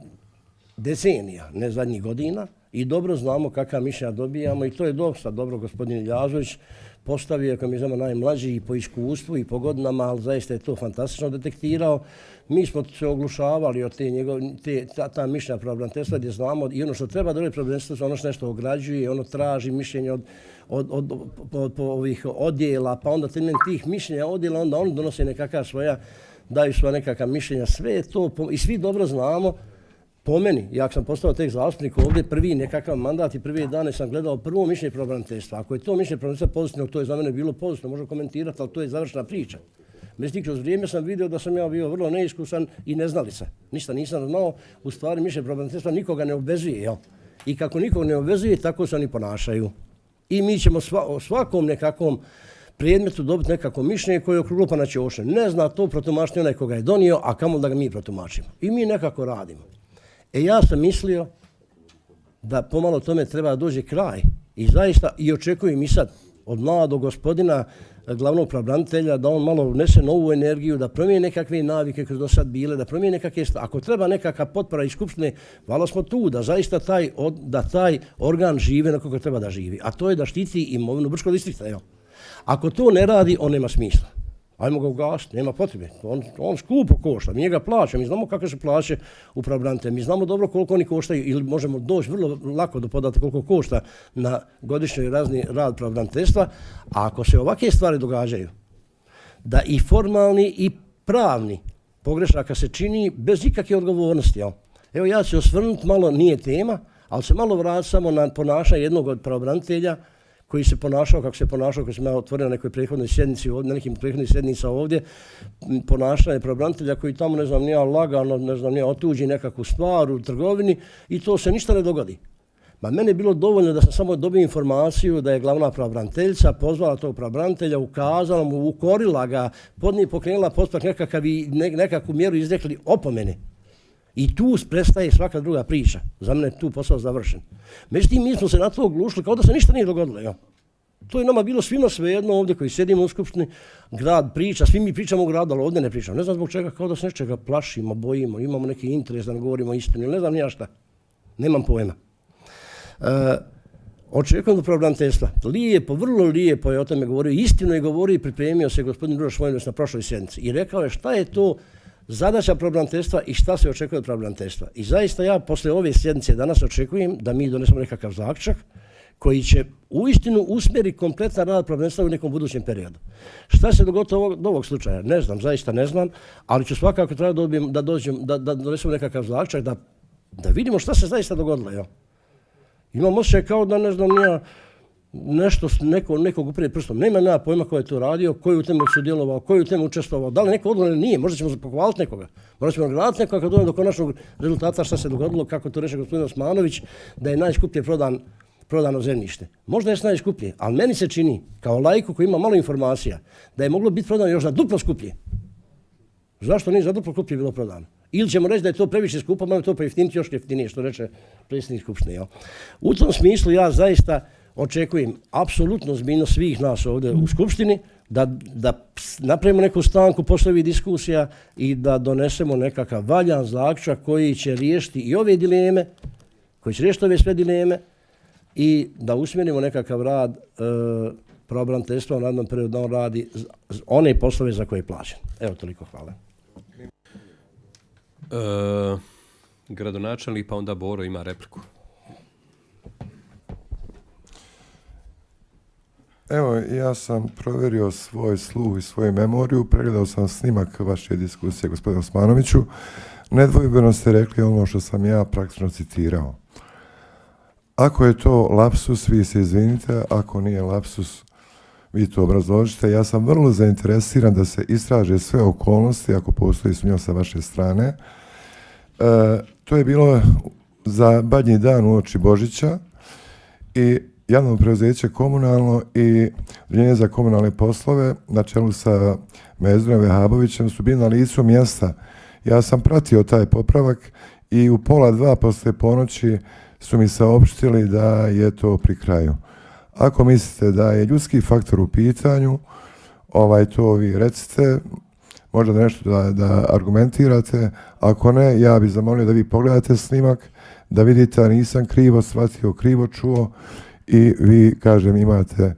decenija, ne zadnjih godina, i dobro znamo kakva mišljenja dobijamo i to je dosta dobro gospodin Iljazović postavio, ako mi znamo najmlađi i po iskustvu i po godinama, ali zaista je to fantastično detektirao. Mi smo se oglušavali od ta mišljenja pravobraniteljstva gdje znamo i ono što treba da je pravobraniteljstvo, ono što nešto ograđuje, ono traži mišljenje od ovih odjela, pa onda temeljem tih mišljenja odjela, onda oni donose nekakva svoja, daju svoja nekakva mišljenja, sve je to i svi dobro znamo. Po meni, ja sam postao tek zastupnik ovdje, prvi nekakav mandat i prvi dane sam gledao prvo mišljenje pravobraniteljstva. Ako je to mišljenje pravobraniteljstva pozitivno, to je za mene bilo pozitivno, možemo komentirati, ali to je završna priča. Međutim, kroz vrijeme sam vidio da sam ja bio vrlo neiskusan i neznalica. Ništa nisam znao, u stvari mišljenje pravobraniteljstva nikoga ne obvezuje. Jel? I kako nikog ne obvezuje, tako se oni ponašaju. I mi ćemo svakom nekakvom predmetu dobiti nekako mišljenje koje je okrulo na ćoše. Ne zna to protumačiti onaj koga je donio, a kamo da ga mi protumačimo. I mi nekako radimo. Ja sam mislio da pomalo tome treba dođe kraj i zaista i očekujem i sad od mladog gospodina glavnog pravobranitelja da on malo unese novu energiju, da promijeni nekakve navike koje su do sad bile, da promijeni nekakve stvari. Ako treba nekakva potpora iz Skupštine, valjda smo tu da zaista taj organ živi na kako treba da živi, a to je da štiti imovinu Brčkog distrikta. Ako to ne radi, on nema smisla. Ajmo ga ugasiti, nema potrebe. On skupo košta, mi njega plaća, mi znamo kakve su plaće u pravobranitelja, mi znamo dobro koliko oni koštaju ili možemo doći vrlo lako do podatka koliko košta na godišnjoj razni rad pravobraniteljstva, a ako se ovakve stvari događaju, da i formalni i pravni pogrešaka se čini bez ikakve odgovornosti. Evo ja ću se osvrnuti malo, nije tema, ali se malo vrati samo na ponašanje jednog od pravobranitelja koji se ponašao kako se ponašao, koji sam ja otvorio na nekoj prethodnoj sjednici, na nekim prethodnih sjednica ovdje, ponašanje pravobranitelja koji tamo, ne znam, nije lagano, ne znam, nije otuđi nekakvu stvar u trgovini i to se ništa ne dogodi. Ma mene je bilo dovoljno da sam samo dobio informaciju da je glavna pravobraniteljica pozvala tog pravobranitelja, ukazala mu, ukorila ga, pokrenula postupak nekakvu mjeru izrekli opomene. I tu prestaje svaka druga priča. Za mene je tu posao završen. Međutim, mi smo se na to oglušili kao da se ništa nije dogodilo. Ja. To je nama bilo svima svejedno ovdje koji sjedimo u Skupštini. Grad priča, svi mi pričamo u gradu, ali ovdje ne pričamo. Ne znam zbog čega, kao da se nečega plašimo, bojimo, imamo neki interes da ne govorimo istinu. Ne znam ni ja šta. Nemam pojma. Očekujem do pravobraniteljstva. Lijepo, vrlo lijepo je o tome govorio. Istinu je govorio i pripremio se gospodin Uroš Vojinović na prošloj sjednici. I rekao je šta je to zadaća pravobraniteljstva i šta se očekuje od pravobraniteljstva. I zaista ja posle ove sjednice danas očekujem da mi donesemo nekakav zaključak koji će uistinu usmjeriti kompletan rad pravobraniteljstva u nekom budućem periodu. Šta se dogodilo od ovog slučaja? Ne znam, zaista ne znam, ali ću svakako da donesemo nekakav zaključak, da vidimo šta se zaista dogodilo. Jo. Imam osjećaj kao da ne znam ja nešto nekog uprijed prstom. Nema pojma ko je to radio, ko je u temu sudjelovao, ko je u temu učestvovao. Da li neko odgovoran nije, možda ćemo pohvaliti nekoga. Možda ćemo nagraditi nekoga kad dođemo do konačnog rezultata šta se dogodilo, kako to reče gospodin Osmanović, da je najskuplje prodano zemljište. Možda je najskuplje, ali meni se čini, kao laiku koji ima malo informacija, da je moglo biti prodano još za duplo skuplje. Zašto nije za duplo skuplje bilo prodano? Ili ćemo reći da je to previše skupo, malo to pojeftiniti još jeftinije, što reče predsjednik Skupštine. U tom smislu ja zaista očekujem apsolutno zbiljno svih nas ovdje u Skupštini da napravimo neku stanku posle ovih diskusija i da donesemo nekakav valjan zaključak koji će riješiti i ove dileme, koji će riješiti ove sve dileme i da usmjerimo nekakav rad pravobraniteljstva u narednom periodu da on radi one poslove za koje je plaćen. Evo toliko, hvala. Gradonačelnik, pa onda Boro ima repliku. Evo, ja sam provjerio svoj sluh i svoju memoriju, pregledao sam snimak vaše diskusije, gospodine Osmanoviću. Nedvojbeno ste rekli ono što sam ja praktično citirao. Ako je to lapsus, vi se izvinite, ako nije lapsus, vi to obrazložite. Ja sam vrlo zainteresiran da se istraže sve okolnosti, ako postoji sumnja sa vaše strane. To je bilo za badnji dan uoči Božića i javno preuzeće komunalno i Udruženje za komunalne poslove na čelu sa Mezdurom Vehabovićem su bili na licu mjesta. Ja sam pratio taj popravak i u 1:30 poslije ponoći su mi saopštili da je to pri kraju. Ako mislite da je ljudski faktor u pitanju, to vi recite, možda nešto da argumentirate. Ako ne, ja bih zamolio da vi pogledate snimak, da vidite da nisam krivo shvatio, krivo čuo i vi, kažem, imate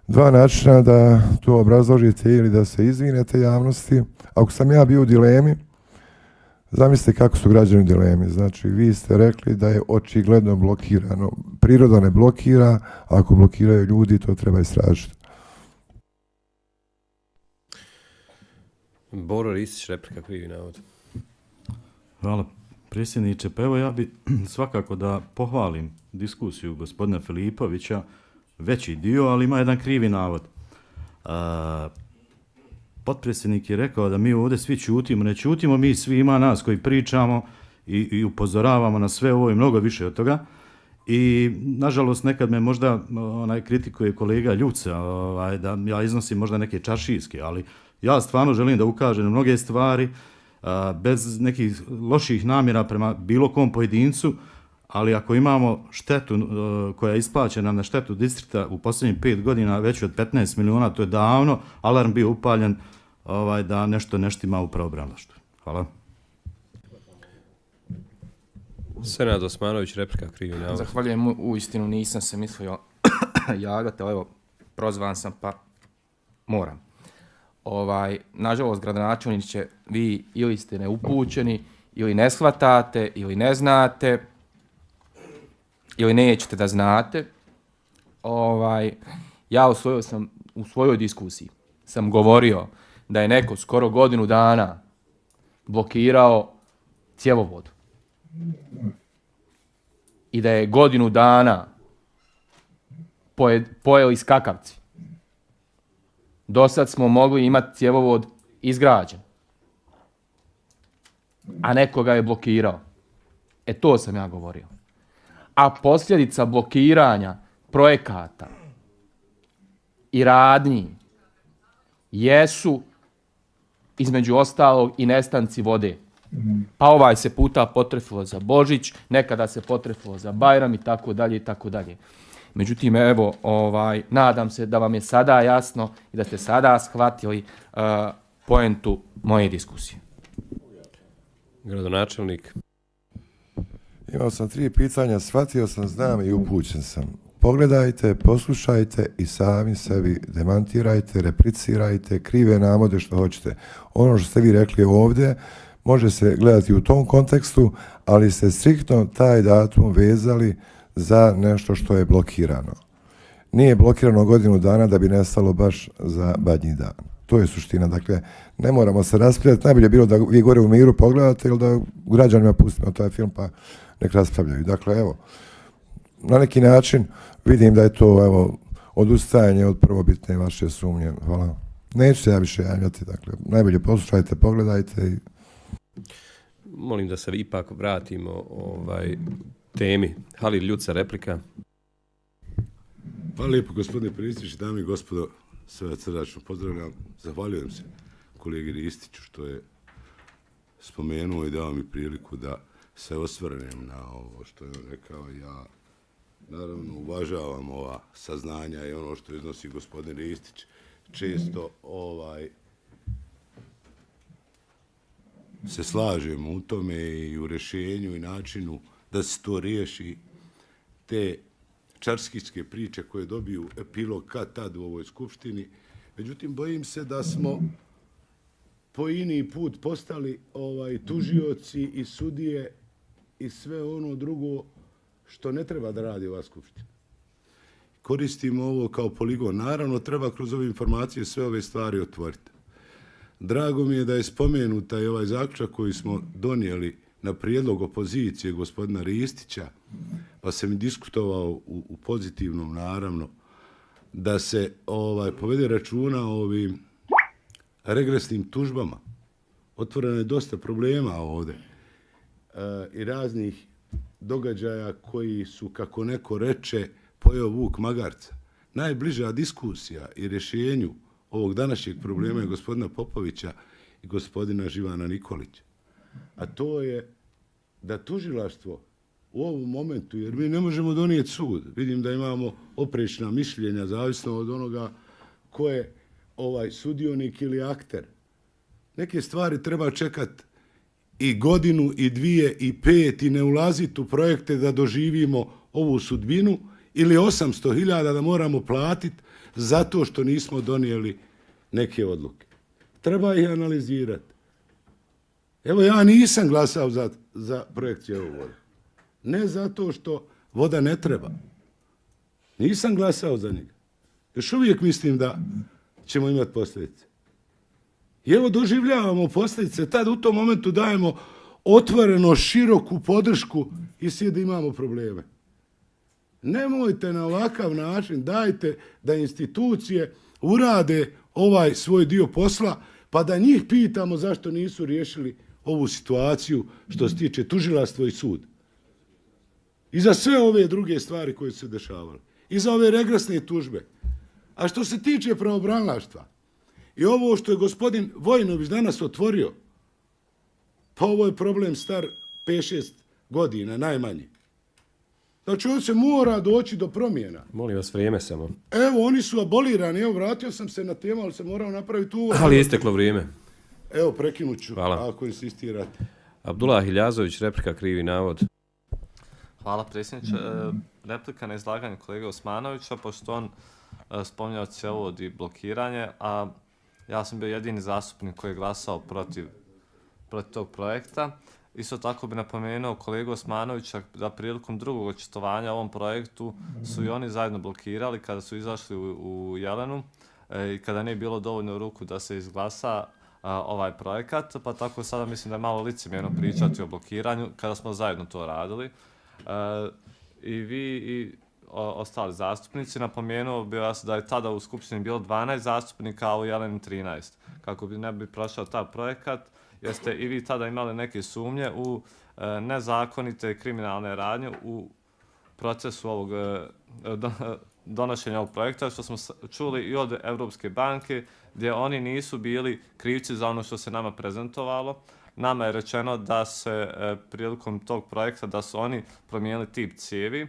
dva načina da to obrazložite ili da se izvinete javnosti. Ako sam ja bio u dilemi, zamislite kako su građani u dilemi. Znači, vi ste rekli da je očigledno blokirano. Priroda ne blokira, ako blokiraju ljudi, to treba istražiti. Boro Ristić, replika, krivi navod. Hvala, predsjedniče. Pa evo, ja bi svakako da pohvalim diskusiju gospodina Filipovića, veći dio, ali ima jedan krivi navod. Potpredsjednik je rekao da mi ovdje svi ćutimo. Ne ćutimo mi svi, ima nas koji pričamo i upozoravamo na sve ovo i mnogo više od toga. I nažalost nekad me možda kritikuje kolega Ljuca da ja iznosim možda neke čaršijske, ali ja stvarno želim da ukažem na mnoge stvari bez nekih loših namjera prema bilo kom pojedincu, ali ako imamo štetu koja je isplaćena na štetu distrikta u posljednjih 5 godina veći od 15 milijuna, to je davno alarm bio upaljen da nešto neštima u pravobranilaštvu. Hvala. Senad Osmanović, replika, krivi navod. Zahvaljujem, uistinu nisam se mislio javljati, ali evo, prozvan sam pa moram. Nažalost, gradonačelniče, vi ili ste neupućeni, ili ne shvatate, ili ne znate, ili nećete da znate. Ja u svojoj diskusiji sam govorio da je neko skoro godinu dana blokirao cjevovod i da je godinu dana pojeli skakavci. Do sad smo mogli imati cjevovod izgrađen, a nekoga je blokirao. To sam ja govorio. A posljedica blokiranja projekata i radnji jesu između ostalog i nestanci vode. Pa se puta potrefilo za Božić, nekada se potrefilo za Bajram i tako dalje i tako dalje. Međutim, evo, nadam se da vam je sada jasno i da ste sada shvatili poentu moje diskusije. Gradonačelnik. Imao sam 3 pitanja, shvatio sam, znam i upućen sam. Pogledajte, poslušajte i sami sebi demantirajte, replicirajte, krive navode što hoćete. Ono što ste vi rekli ovdje može se gledati u tom kontekstu, ali ste striktno taj datum vezali za nešto što je blokirano. Nije blokirano godinu dana da bi nestalo baš za badnji dan. To je suština. Dakle, ne moramo se raspravljati. Najbolje je bilo da vi gore u miru pogledate ili da građanima pustimo taj film pa nek raspravljaju. Dakle, evo, na neki način vidim da je to, evo, odustajanje od prvobitne vaše sumnje. Hvala. Neću se ja više javljati. Dakle, najbolje poslušajte, pogledajte i... Molim da se ipak vratimo temi. Halil Ljuca, replika. Hvala lijepo, gospodine predsjedniče, dame i gospodo, sve srdačno pozdravljam. Zahvaljujem se kolegi Ristiću što je spomenuo i dao mi priliku da se osvrnem na ovo što je on rekao. Ja naravno uvažavam ova saznanja i ono što iznosi gospodin Ristić. Često se slažemo u tome i u rješenju i načinu da se to riješi, te čarskijske priče koje dobiju epilog kad tad u ovoj skupštini. Međutim, bojim se da smo po ini put postali tužioci i sudije i sve ono drugo što ne treba da radi ova skupština. koristimo ovo kao poligon. Naravno, treba kroz ove informacije sve ove stvari otvoriti. Drago mi je da je spomenuta i ovaj zaključak koji smo donijeli na prijedlog opozicije gospodina Ristića, pa sam i diskutovao u pozitivnom, naravno, da se povede računa o ovim regresnim tužbama. Otvoreno je dosta problema ovdje i raznih događaja koji su, kako neko reče, pojeo vuk magarca. Najbliža diskusija i rješenju ovog današnjeg problema je gospodina Popovića i gospodina Živana Nikolića. A to je da tužilaštvo u ovom momentu, jer mi ne možemo donijeti sud, vidim da imamo oprečna mišljenja, zavisno od onoga ko je sudionik ili akter. Neke stvari treba čekati i godinu, i 2, i 5 i ne ulaziti u projekte da doživimo ovu sudbinu ili 800.000 da moramo platiti zato što nismo donijeli neke odluke. Treba ih analizirati. Evo, ja nisam glasao za projekt cjevovoda. Ne zato što voda ne treba. Nisam glasao za njega. Još uvijek mislim da ćemo imati posljedice. I evo doživljavamo posljedice. Tad u tom momentu dajemo otvoreno široku podršku i svi da imamo probleme. Nemojte na ovakav način, dajte da institucije urade ovaj svoj dio posla, pa da njih pitamo zašto nisu riješili ovu situaciju što se tiče tužilaštva i sud. I za sve ove druge stvari koje su se dešavale. I za ove regresne tužbe. A što se tiče pravobranilaštva, i ovo što je gospodin Vojinović danas otvorio, pa ovo je problem star 5-6 godina, najmanje. Znači, on se mora doći do promjena. Molim vas, vrijeme samo. Evo, oni su abolirani, evo, vratio sam se na temu, ali se morao napraviti uvod. Ali je isteklo vrijeme. Evo, prekinut ću, hvala. Ako insistirate. Abdullah Hiljazović, replika, krivi navod. Hvala, predsjedniče. Replika na izlaganje kolege Osmanovića, pošto on spominjao cjevovod i blokiranje, a ja sam bio jedini zastupnik koji je glasao protiv tog projekta. Isto tako bi napomenuo kolegu Osmanovića da prilikom drugog očitovanja o ovom projektu su i oni zajedno blokirali kada su izašli u Jelenu i kada nije bilo dovoljno ruku da se izglasa ovaj projekat, pa tako sada mislim da je malo licemjerno pričati o blokiranju kada smo zajedno to radili. I vi i ostali zastupnici, napomenuo bi vas da je tada u Skupštini bilo 12 zastupnika, a u Jeleni 13. Kako bi ne bi prošao taj projekat, jeste i vi tada imali neke sumnje u nezakonite kriminalne radnje u procesu ovog donošenja ovog projekta, što smo čuli i od Evropske banke, gdje oni nisu bili krivci za ono što se nama prezentovalo. Nama je rečeno da se prilikom tog projekta da su oni promijenili tip cijevi.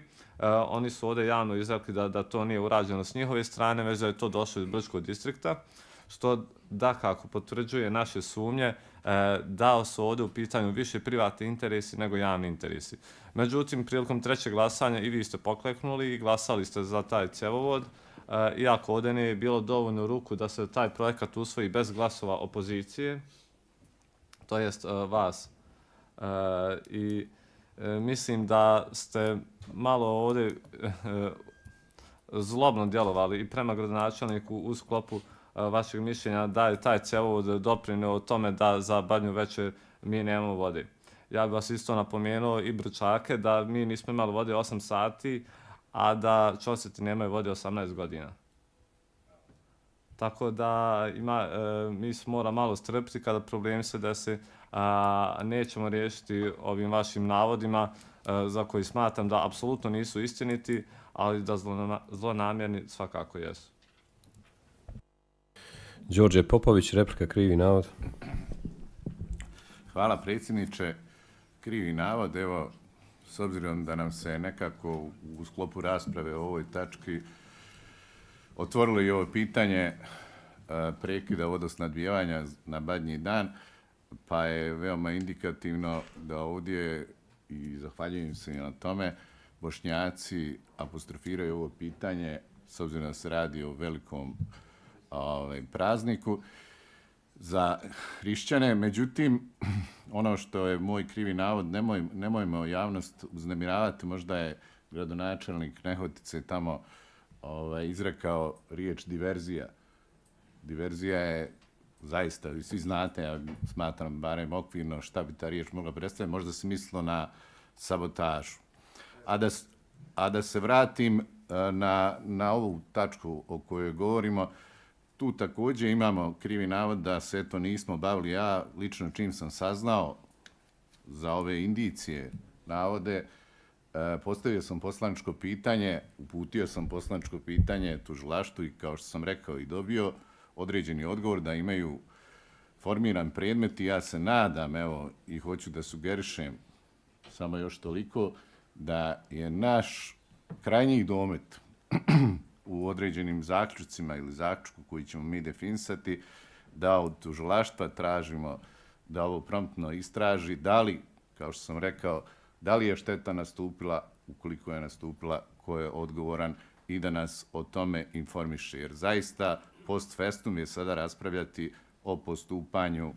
Oni su ovdje javno izrekli da to nije urađeno s njihove strane, već da je to došlo iz Brčkog distrikta, što dakako potvrđuje naše sumnje da su ovdje u pitanju više privatni interesi nego javni interesi. Međutim, prilikom trećeg glasanja i vi ste pokleknuli i glasali ste za taj cjevovod, iako ovdje nije bilo dovoljno ruku da se taj projekat usvoji bez glasova opozicije, to jest vas. I mislim da ste malo ovdje zlobno djelovali i prema gradonačelniku u sklopu vašeg mišljenja da je taj cjevovod doprinio o tome da za Badnju Večer mi nemamo vode. Ja bih vas isto napomenuo i Brčake da mi nismo imali vode 8 sati, a da Ćoseti nemaju vode 18 godina. Tako da mi se mora malo strpiti kada problemi se desi, nećemo riješiti ovim vašim navodima za koji smatram da apsolutno nisu istiniti, ali da zlonamjerni svakako jesu. Đorđe Popović, replika, krivi navod. Hvala predsjedniče. Krivi navod, evo, s obzirom da nam se nekako u sklopu rasprave o ovoj tački otvorilo i ovo pitanje prekida vodosnabdijevanja na Badnji dan, pa je veoma indikativno da ovdje, i zahvaljujem se na tome, Bošnjaci apostrofiraju ovo pitanje, s obzirom da se radi o velikom prazniku za hrišćane. Međutim, ono što je moj krivi navod, nemojmo javnost uznemiravati, možda je gradonačelnik Nehotice tamo izrekao riječ diverzija. Diverzija je zaista, vi svi znate, ja smatram barem okvirno šta bi ta riječ mogla predstaviti, možda se mislilo na sabotažu. A da se vratim na ovu tačku o kojoj govorimo, tu također imamo krivi navod da se to nismo bavili. Ja lično čim sam saznao za ove indicije, navode, postavio sam poslaničko pitanje, uputio sam poslaničko pitanje tužilaštvu i kao što sam rekao i dobio određeni odgovor da imaju formiran predmet i ja se nadam, evo, i hoću da sugerišem samo još toliko, da je naš krajnji domet u određenim zaključcima ili zaključku koji ćemo mi definisati, da od tužilaštva tražimo da ovo promptno istraži, da li, kao što sam rekao, da li je šteta nastupila, ukoliko je nastupila, ko je odgovoran i da nas o tome informiše. Jer zaista post festum je sada raspravljati o postupanju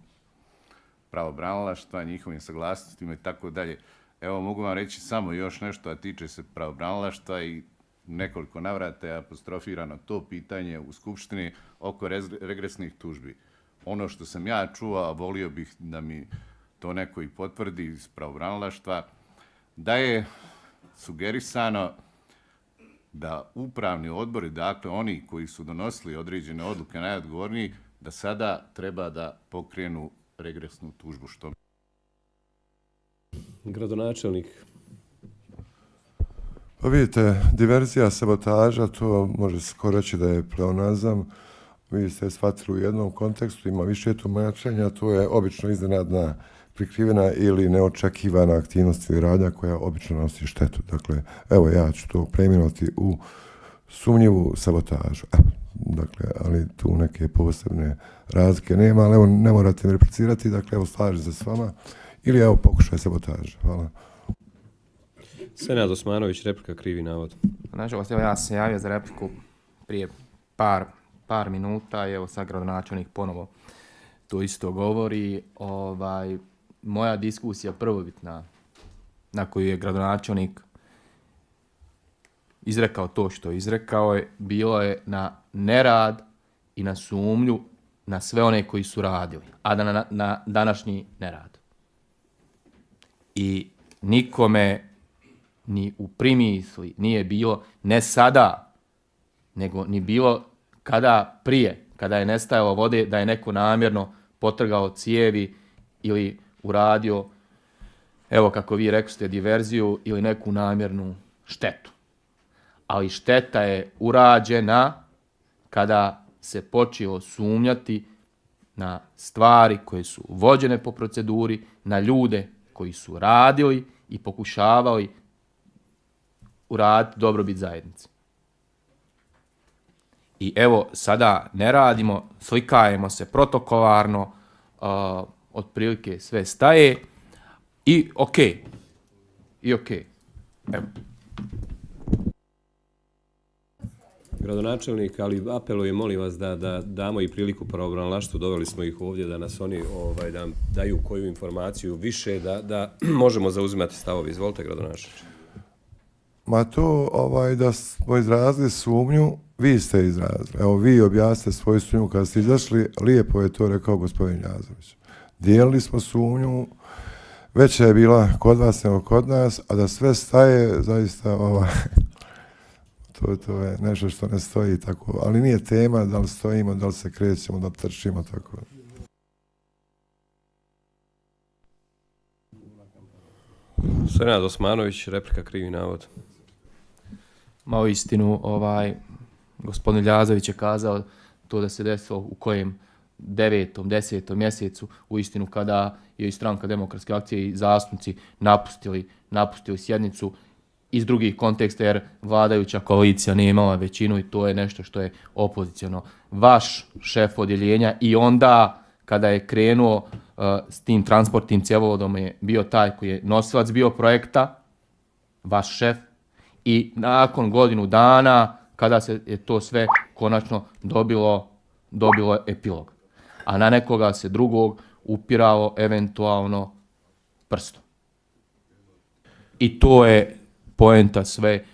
pravobranilaštva, njihovim saglasnostima i tako dalje. Evo, mogu vam reći samo još nešto, a tiče se pravobranilaštva i nekoliko navrata je apostrofirano to pitanje u Skupštini oko regresnih tužbi. Ono što sam ja čuo, a volio bih da mi to neko i potvrdi iz pravobranilaštva, da je sugerisano da upravni odbori, dakle oni koji su donosili određene odluke najodgovorniji, da sada treba da pokrenu regresnu tužbu. Što? Gradonačelnik. Pa vidite, diverzija, sabotaža, to može skoro reći da je pleonazam. Vi ste shvatili u jednom kontekstu, ima više tumačenja, to je obično iznenadna, prikrivena ili neočekivana aktivnost ili radnja koja obično nosi štetu. Dakle, evo ja ću to preimenovati u sumnjivu sabotažu. Dakle, ali tu neke posebne razlike nema, ali evo ne morate mi replicirati, dakle evo slažem se s vama ili evo pokušaj sabotaže. Hvala. Senad Osmanović, replika, krivi navod. Nažalost, evo ja sam se javio za repliku prije par minuta i evo sad gradonačelnik ponovo to isto govori. Moja diskusija prvobitna na koju je gradonačelnik izrekao to što je izrekao je, bilo je na nerad i na sumnju na sve one koji su radili, a da na današnji nerad. I nikome ni u primisli nije bilo, ne sada, nego ni bilo kada prije, kada je nestajalo vode, da je neko namjerno potrgao cijevi ili uradio, evo kako vi rekli, diverziju ili neku namjernu štetu. Ali šteta je urađena kada se počelo sumnjati na stvari koje su vođene po proceduri, na ljude koji su radili i pokušavali uraditi dobrobit zajednici. I evo, sada ne radimo, slikajemo se protokolarno, otprilike sve staje i okej. Evo. Gradonačelnik, ali apelujem, molim vas da damo i priliku pravobranilaštvu, doveli smo ih ovdje da nas oni da daju koju informaciju više, da možemo zauzimati stavovi. Izvolite, gradonačelniče. Ma to da smo izrazili sumnju, vi ste izrazili. Evo vi objasnite svoju sumnju kada ste izašli, lijepo je to rekao gospodin Njazović. Dijelili smo sumnju, veća je bila kod vas nego kod nas, a da sve staje zaista to je nešto što ne stoji tako, ali nije tema da li stojimo, da li se krećemo, da li trčimo tako. Senad Osmanović, replika, krivi navod. Ma u istinu, gospodin Ljazović je kazao to da se desilo u kojem 9., 10. mjesecu, u istinu kada je i Stranka demokratske akcije i zastupnici napustili sjednicu iz drugih konteksta jer vladajuća koalicija nije imala većinu i to je nešto što je opoziciono. Vaš šef odjeljenja i onda kada je krenuo s tim transportnim cjevovodom je bio taj koji je nosilac bio projekta, vaš šef, i nakon godinu dana kada se je to sve konačno dobilo epilog. A na nekoga se drugog upiralo eventualno prstom. I to je poenta sve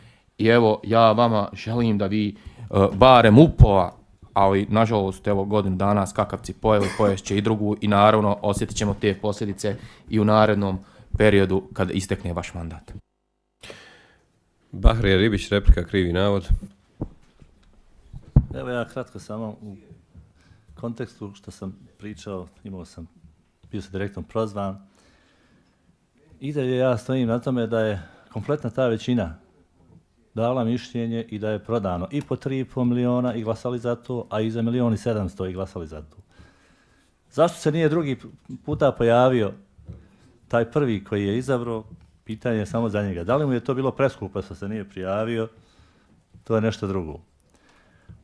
I evo, ja vama želim da vi barem upola, ali nažalost, evo godinu dana skakavci pojeli, poješće i drugu i naravno osjetit ćemo te posljedice i u narednom periodu kada istekne vaš mandat. Bahrija Ribić, replika, krivi navod. Evo ja kratko samo u kontekstu što sam pričao, bio sam direktno prozvan. I dalje ja stojim na tome da je kompletna ta većina dala mišljenje i da je prodano i po 3,5 miliona i glasali za to, a i za 1.700.000 i glasali za to. Zašto se nije drugi puta pojavio taj prvi koji je izabrao? Pitanje je samo za njega. Da li mu je to bilo preskupo što se nije prijavio? To je nešto drugo.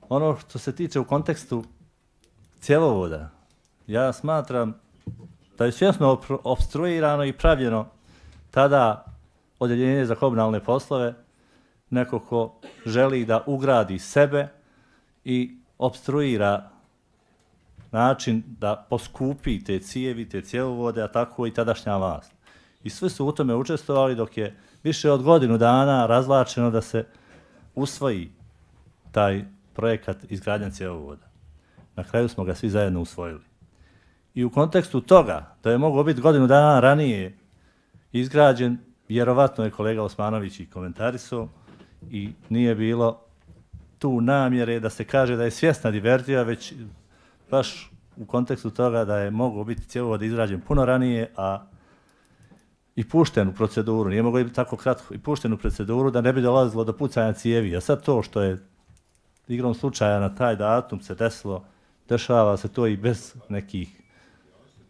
Ono što se tiče u kontekstu cjevovoda, ja smatram da je svjesno opstruirano i pravljeno tada odjeljenje za komunalne poslove, neko ko želi da ugradi sebe i opstruira način da poskupi te cijevi, te cjevovode, a tako i tadašnja vlast. I svi su u tome učestvovali dok je više od godinu dana razvlačeno da se usvoji taj projekat izgradnja cjevovoda. Na kraju smo ga svi zajedno usvojili. I u kontekstu toga da je moglo biti godinu dana ranije izgrađen, vjerovatno je kolega Osmanović i komentarisao, i nije bilo tu namjere da se kaže da je svjesna diverzija, već baš u kontekstu toga da je moglo biti cjevovod izrađen puno ranije, a i pušten u proceduru, nije moglo biti tako kratko, i pušten u proceduru da ne bi dolazilo do pucanja cijevi. A sad to što je igrom slučaja na taj datum se desilo, dešava se to i bez nekih,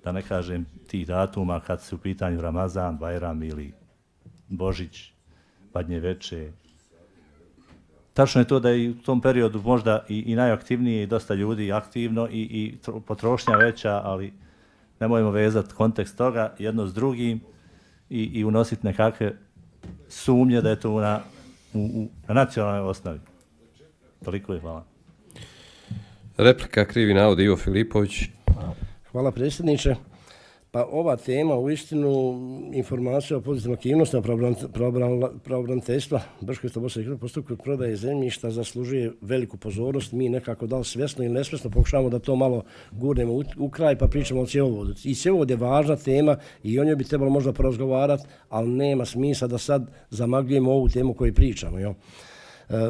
da ne kažem, tih datuma kad se u pitanju Ramazan, Bajram ili Božić, Badnje veče. Tačno je to da je u tom periodu možda i najaktivnije i dosta ljudi aktivno i potrošnja veća, ali nemojmo vezati kontekst toga jedno s drugim i unositi nekakve sumnje da je to na nacionalnoj osnovi. Toliko je, hvala. Replika, krivi navod, Ivo Filipović. Hvala predsjedniče. Pa ova tema, uistinu, informacija o pozitivnim aktivnostima pravobraniteljstva Brčko-Bosne postupku prodaje zemljišta zaslužuje veliku pozornost. Mi nekako da li svjesno ili nesvjesno pokušavamo da to malo gurnemo u kraj pa pričamo o cjevovodu. I cjevovod je važna tema i o njoj bi trebalo možda porazgovarati, ali nema smisla da sad zamagljujemo ovu temu koju pričamo. Jo?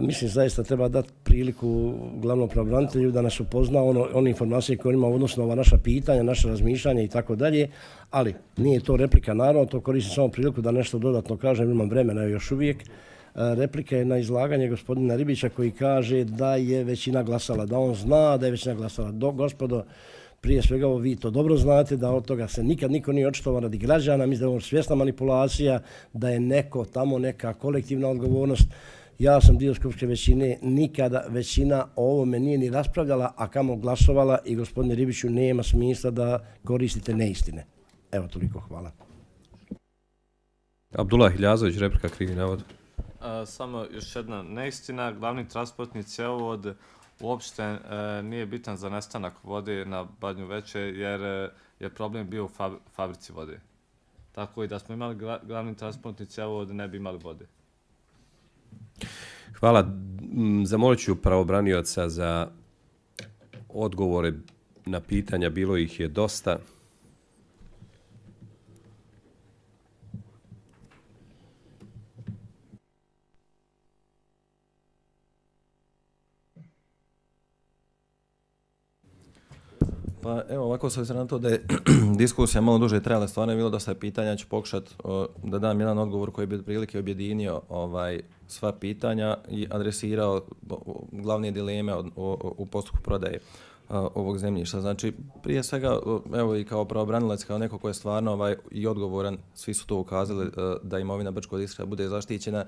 Mislim, zaista treba dati priliku glavnom pravobranitelju da nas upozna one informacije koje ima odnosno ova naša pitanja, naše razmišljanja i tako dalje, ali nije to replika, naravno, to koristim samo priliku da nešto dodatno kažem, imam vremena još uvijek. Replika je na izlaganje gospodina Ribića koji kaže da je većina glasala, da on zna da je većina glasala. Gospodo, prije svega vi to dobro znate, da od toga se nikad niko nije očitovao radi građana, mislim da je ovo svjesna manipulacija, da je neko tamo neka kolektivna odgovornost. Ja sam dio skupštinske većine, nikada većina o ovome nije ni raspravljala, a kamo glasovala i gospodine Ribiću nema smisla da koristite neistine. Evo toliko, hvala. Abdullah Hiljazović, replika, krivi navod. Samo još jedna neistina, glavni transportni cjevovod uopšte nije bitan za nestanak vode na Badnju veče jer je problem bio u fabrici vode. Tako i da smo imali glavni transportni cjevovod ne bi imali vode. Hvala. Zamolit ću pravobranioca za odgovore na pitanja, bilo ih je dosta. Pa evo, ovako se na to da je diskusija malo duže trajala, stvarno je bilo dosta pitanja, ja ću pokušati da dam jedan odgovor koji bi prilike objedinio sva pitanja i adresirao glavne dileme u postupku prodaje ovog zemljišta. Znači, prije svega, evo i kao pravobranilac, kao neko ko je stvarno i odgovoran, svi su to ukazali da imovina Brčkog distrikta bude zaštićena,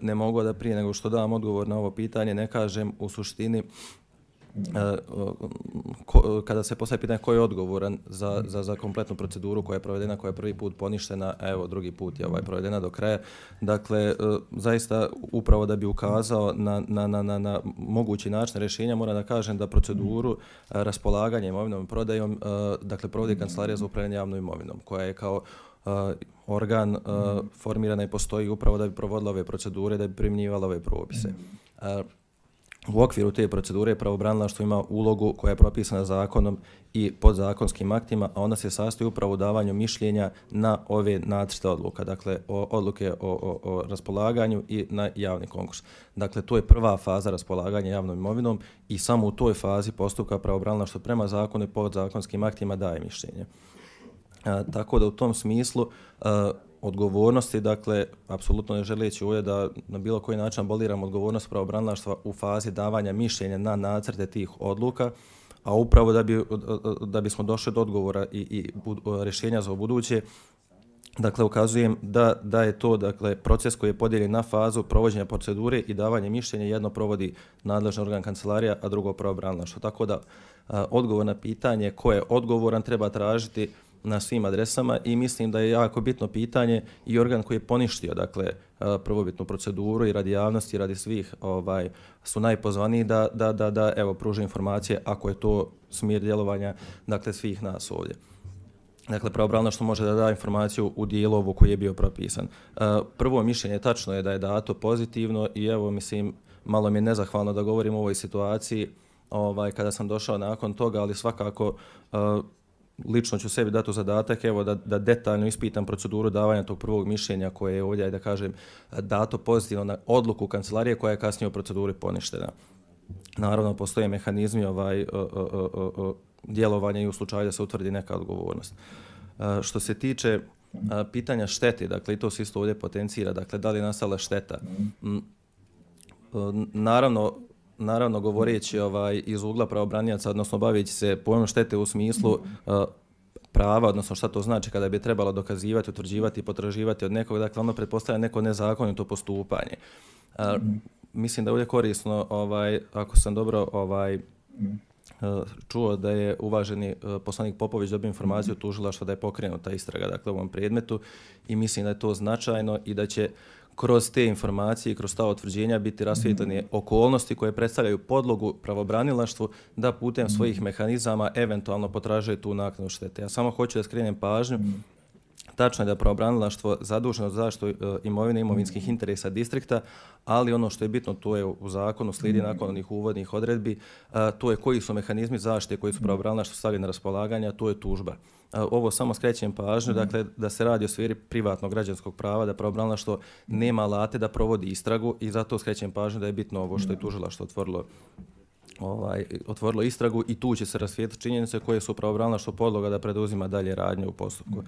ne mogu da prije nego što dam odgovor na ovo pitanje, ne kažem u suštini kada se postavi pitanje ko je odgovoran za kompletnu proceduru koja je provedena, koja je prvi put poništena, evo drugi put je provedena do kraja. Dakle, zaista upravo da bi ukazao na mogući način rješenja, moram da kažem da proceduru raspolaganja imovinom i prodajom, dakle provodi Kancelarija za upravljanje javnom imovinom, koja je kao organ formirana i postoji upravo da bi provodila ove procedure, da bi primjenjivala ove propise. U okviru te procedure pravobranilaštvo ima ulogu koja je propisana zakonom i podzakonskim aktima, a ona se sastoji upravo u davanju mišljenja na ove nacrte odluka, dakle odluke o raspolaganju i na javni konkurs. Dakle, to je prva faza raspolaganja javnom imovinom i samo u toj fazi postupka pravobranilaštvo prema zakonu i podzakonskim aktima daje mišljenje. Tako da u tom smislu odgovornosti, dakle, apsolutno ne želeći ovdje da na bilo koji način aboliram odgovornost pravobranilaštva u fazi davanja mišljenja na nacrte tih odluka, a upravo da bismo došli do odgovora i rješenja za ubuduće, dakle, ukazujem da je to, dakle, proces koji je podijeljen na fazu provođenja procedure i davanje mišljenja, jedno provodi nadležni organ kancelarija, a drugo pravobranilaštvo. Tako da odgovor na pitanje ko je odgovoran treba tražiti na svim adresama i mislim da je jako bitno pitanje i organ koji je poništio, dakle, prvobitnu proceduru i radi javnosti i radi svih su najpozvaniji da evo pruže informacije ako je to smjer djelovanja, dakle, svih nas ovdje. Dakle, pravobranilaštvo može da da informaciju u dijelu ovu koji je bio propisan. Prvo mišljenje tačno je da je dato pozitivno i evo, mislim, malo mi je nezahvalno da govorim o ovoj situaciji kada sam došao nakon toga, ali svakako lično ću sebi dati u zadatak evo, da detaljno ispitam proceduru davanja tog prvog mišljenja koje je ovdje, da kažem, dato pozitivno na odluku kancelarije koja je kasnije u proceduri poništena. Naravno, postoje mehanizmi djelovanja i u slučaju da se utvrdi neka odgovornost. Što se tiče pitanja štete, dakle, i to se isto ovdje potencira, dakle, da li je nastala šteta. Naravno, govoreći iz ugla pravobranioca, odnosno baveći se pojmom štete u smislu prava, odnosno šta to znači kada bi trebalo dokazivati, utvrđivati i potraživati od nekog, dakle, ono pretpostavlja neko nezakonito postupanje. Mislim da je ovdje korisno, ako sam dobro čuo da je uvaženi poslanik Popović dobio informaciju tužilaštva da je pokrenuta istraga, dakle, u ovom predmetu i mislim da je to značajno i da će kroz te informacije i kroz ta utvrđenja biti rasvijetljene okolnosti koje predstavljaju podlogu pravobranilaštvu da putem svojih mehanizama eventualno potražuje tu naknadu štete. Ja samo hoću da skrenem pažnju. Tačno je da je pravobranilaštvo zaduženo za zaštitu imovine i imovinskih interesa distrikta, ali ono što je bitno, to je u zakonu, slijedi nakon onih uvodnih odredbi, to je koji su mehanizmi zaštite koji su pravobranilaštvo stavili na raspolaganje, a to je tužba. Ovo samo skrećem pažnju, dakle, da se radi o sferi privatnog građanskog prava, da pravobranilaštvo nema alate da provodi istragu i zato skrećem pažnju da je bitno ovo što je tužilaštvo otvorilo istragu i tu će se rasvijetliti činjenice koje su pravobranilaštvo podloga da preduzima dalje radnje u postupku.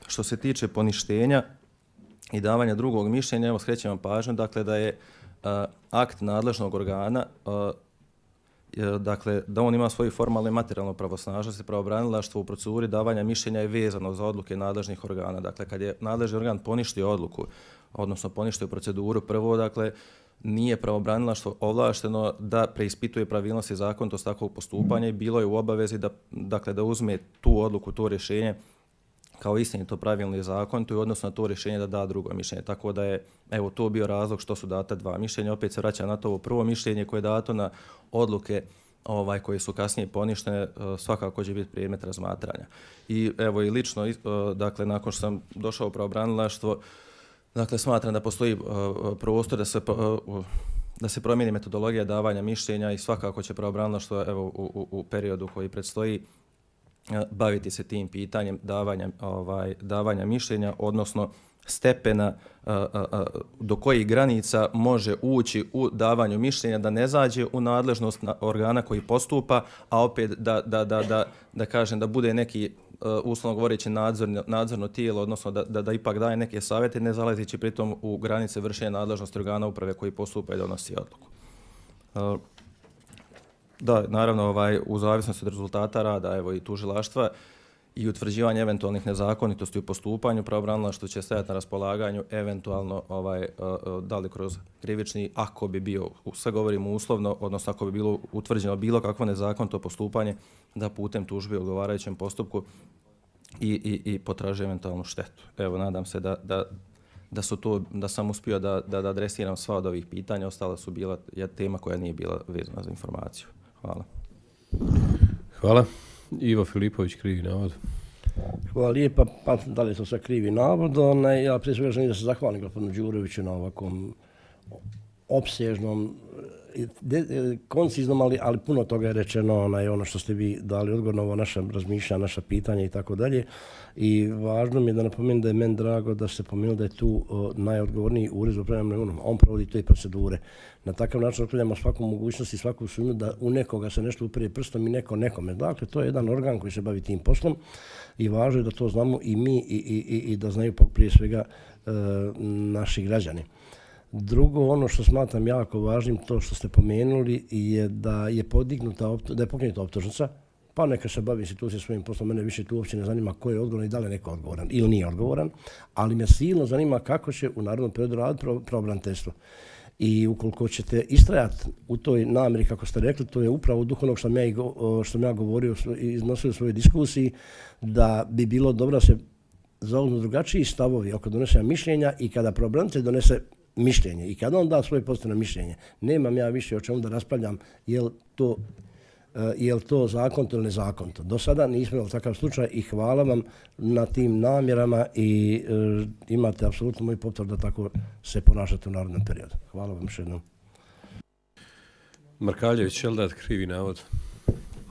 Što se tiče poništenja i davanja drugog mišljenja, evo skrećem vam pažnju, dakle, da je akt nadležnog organa, dakle, da on ima svoju formalnu i materijalnu pravosnažnost i pravobranilaštvo u proceduri davanja mišljenja je vezano za odluke nadležnih organa. Dakle, kad je nadležni organ poništio odluku, odnosno poništio proceduru, prvo, dakle, nije pravobranilaštvo ovlašteno da preispituje pravilnosti i zakonitost takvog postupanja i bilo je u obavezi da uzme tu odluku, to rješenje kao istinito, pravilno i zakonito i odnosno na to rješenje da da drugo mišljenje. Tako da je evo to bio razlog što su data dva mišljenja. Opet se vraća na to ovo prvo mišljenje koje je dato na odluke koje su kasnije poništene, svakako će biti predmet razmatranja. I evo i lično, dakle, nakon što sam došao u pravobranilaštvo, dakle, smatram da postoji prostor da se promijeni metodologija davanja mišljenja i svakako će pravobranilaštvo evo u periodu koji predstoji baviti se tim pitanjem davanja mišljenja, odnosno stepena do kojih granica može ući u davanju mišljenja, da ne zađe u nadležnost organa koji postupa, a opet da kažem da bude neki uslovno govoreći nadzorno tijelo, odnosno da ipak daje neke savjete, ne zalazeći pritom u granice vršenja nadležnosti organa uprave koji postupa i donosi odluku. Da, naravno, u zavisnosti od rezultata rada evo i tužilaštva i utvrđivanje eventualnih nezakonitosti u postupanju, pravobranilaštvo će stajati na raspolaganju eventualno da li kroz krivični, ako bi bio, sve govorimo uslovno, odnosno ako bi bilo utvrđeno bilo kakvo nezakonito postupanje, da putem tužbe u odgovarajućem postupku i potraži eventualnu štetu. Evo, nadam se da sam uspio da adresiram sva od ovih pitanja, ostala su bila tema koja nije bila vezana za informaciju. Hvala. Hvala. Ivo Filipović, krivi navod. Hvala lijepa, pa da li je to sve krivi navod, ja prije svega želim da se zahvalim gospodinu Đuroviću na ovakvom opsežnom, konciznom, ali puno toga je rečeno, ono što ste vi dali odgovor na ovo naša razmišljanja, naša pitanja i tako dalje. I važno mi je da napomenem da je meni drago da ste pomenuli da je tu najodgovorniji ured za upravljanje imovinom. On provodi te procedure. Na takav način otklanjamo svaku mogućnost i svaku sumnju da u nekoga se nešto upire prstom i neko nekome. Dakle, to je jedan organ koji se bavi tim poslom i važno je da to znamo i mi i da znaju prije svega naši građani. Drugo, ono što smatram jako važnim, to što ste pomenuli, je da je pokrenuta optužnica, pa neka se bavi institucija svojim poslom, mene više tu uopće ne zanima ko je odgovoran i da li je neko odgovoran ili nije odgovoran, ali me silno zanima kako će u narednom periodu raditi pravobraniteljstvo. I ukoliko ćete istrajati u toj namjeri, kako ste rekli, to je upravo duh onog što sam ja govorio i iznosio u svojoj diskusiji, da bi bilo dobro da se zauzmu drugačiji stavovi oko donošenja mišljenja i kada pravobranitelj donese mišljenje i kada on da svoje pozitivno mišljenje, nemam ja više o čemu da raspravljam je li to zakonito ili nezakonito. Do sada nismo imali takav slučaj i hvala vam na tim namjerama i imate apsolutno moj potvrdu da tako se ponašate u narednom periodu. Hvala vam još jednom. Markaljević, je li dat krivi navod?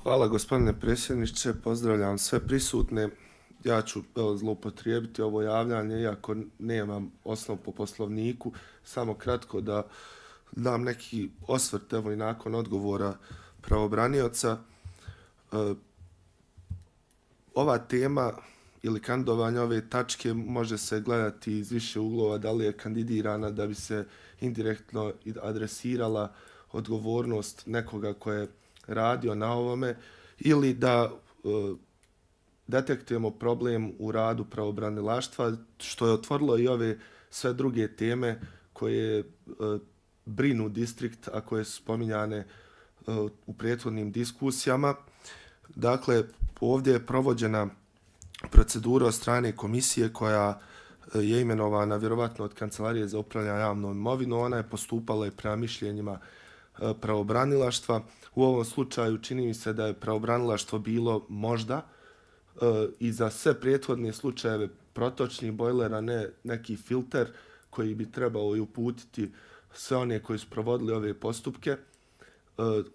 Hvala gospodine predsjedniče, pozdravljam sve prisutne. Ja ću zloupotrijebiti ovo javljanje, iako nemam osnov po poslovniku, samo kratko da dam neki osvrt, evo i nakon odgovora pravobranioca. Ova tema ili kandidovanje ove tačke može se gledati iz više uglova, da li je kandidirana da bi se indirektno adresirala odgovornost nekoga ko je radio na ovome ili da detektujemo problem u radu pravobranilaštva, što je otvorilo i ove sve druge teme koje brinu distrikt, a koje su spominjane u prethodnim diskusijama. Dakle, ovdje je provođena procedura od strane komisije koja je imenovana vjerovatno od Kancelarije za upravljanje javnom imovinom. Ona je postupala i prema mišljenjima pravobranilaštva. U ovom slučaju čini mi se da je pravobranilaštvo bilo možda i za sve prethodne slučajeve protočnih bojlera, ne neki filter koji bi trebao i uputiti sve one koji su provodili ove postupke.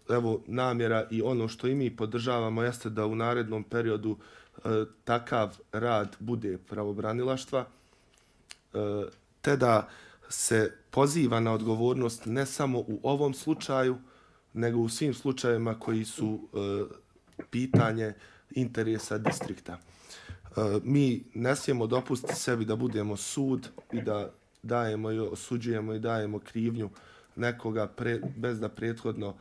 Evo, namjera i ono što i mi podržavamo jeste da u narednom periodu takav rad bude pravobranilaštva, te da se poziva na odgovornost ne samo u ovom slučaju, nego u svim slučajevima koji su pitanje interesa distrikta. Mi ne smijemo dopustiti sebi da budemo sud i da dajemo i osuđujemo i dajemo krivnju nekoga bez da prethodno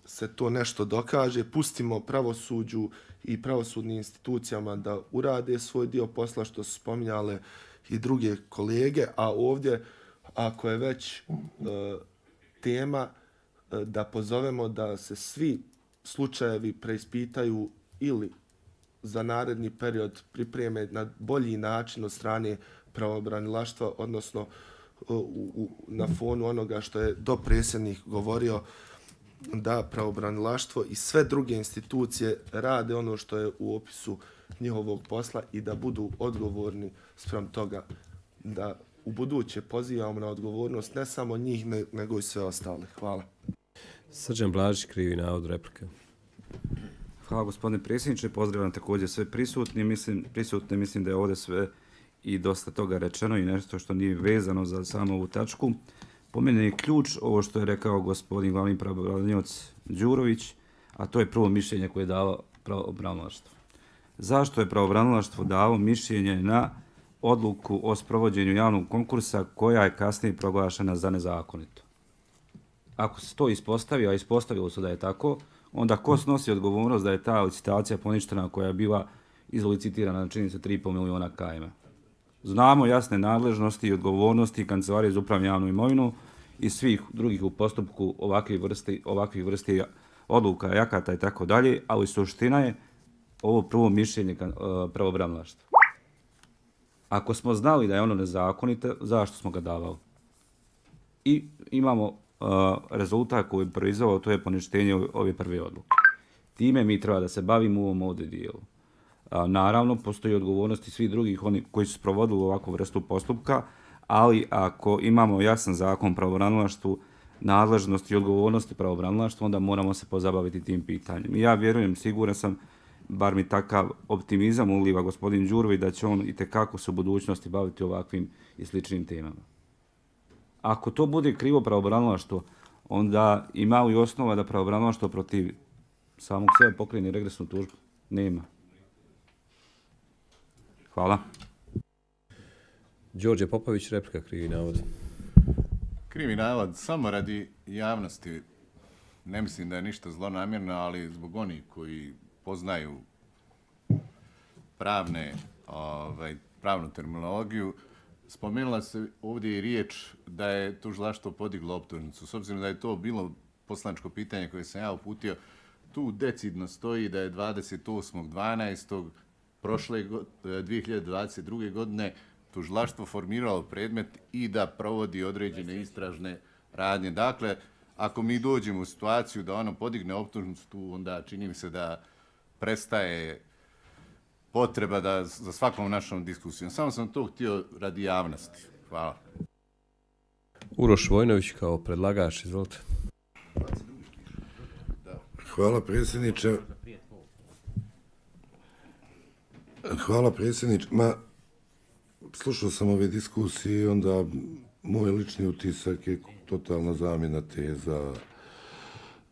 se to nešto dokaže. Pustimo pravosuđu i pravosudnim institucijama da urade svoj dio posla, što su spominjale i druge kolege, a ovdje, ako je već tema, da pozovemo da se svi slučajevi preispitaju ili za naredni period pripreme na bolji način od strane pravobranilaštva, odnosno na fonu onoga što je dopredsjednik govorio, da pravobranilaštvo i sve druge institucije rade ono što je u opisu njihovog posla i da budu odgovorni spram toga, da u buduće pozivamo na odgovornost ne samo njih, nego i sve ostale. Hvala. Srđan Blažić, krivi navod, replika. Hvala gospodine predsjedniče, pozdravljam također sve prisutne, mislim da je ovdje sve i dosta toga rečeno i nešto što nije vezano za samo ovu tačku. Po meni je ključ ovo što je rekao gospodin glavni pravobranioc Đurović, a to je prvo mišljenje koje je dalo pravobranilaštvo. Zašto je pravobranilaštvo dalo mišljenje na odluku o sprovođenju javnog konkursa koja je kasnije proglašena za nezakonito? Ako se to ispostavi, a ispostavilo se da je tako, onda ko snosi odgovornost da je ta licitacija poništena koja je bila izlicitirana na čini se 3,5 miliona km? Znamo jasne nadležnosti i odgovornosti Kancelarije za upravljanje javnom imovinom i svih drugih u postupku ovakvih vrsti odluka, akata i tako dalje, ali suština je ovo prvo mišljenje pravobranilaštva. Ako smo znali da je ono nezakonito, zašto smo ga davali? I imamo rezultat koji je proizveo, to je poništenje ove prve odluke. Time mi treba da se bavimo u ovom ovdje dijelu. Naravno, postoji odgovornosti svih drugih oni koji su sprovodili ovakvu vrstu postupka, ali ako imamo jasan zakon o pravobranilaštvu, nadležnosti i odgovornosti pravobranilaštva, onda moramo se pozabaviti tim pitanjem. I ja vjerujem, siguran sam, bar mi takav optimizam uliva gospodin Đurović, da će on itekako se u budućnosti baviti ovakvim i sličnim temama. Ako to bude krivo pravobranilaštvo, onda ima li osnova da pravobranilaštvo protiv samog sebe pokrene regresnu tužbu? Nema. Hvala. Đorđe Popović, replika, krivi navod. Krivi navod, samo radi javnosti, ne mislim da je ništa zlonamjerno, ali zbog onih koji poznaju pravnu terminologiju, spomenula se ovdje i riječ da je tužilaštvo podiglo optužnicu. S obzirom da je to bilo poslaničko pitanje koje sam ja uputio, tu decidno stoji da je 28.12. prošle 2022. godine tužilaštvo formiralo predmet i da provodi određene istražne radnje. Dakle, ako mi dođemo u situaciju da ono podigne optužnicu, tu onda čini mi se da prestaje potreba da za svakom našom diskusijom. Samo sam to htio radi javnosti. Hvala. Uroš Vojnović kao predlagač, izvolite. Hvala predsjedniče. Hvala predsjedniče. Slušao sam ove diskusije i onda moj lični utisak je totalna zamjena teza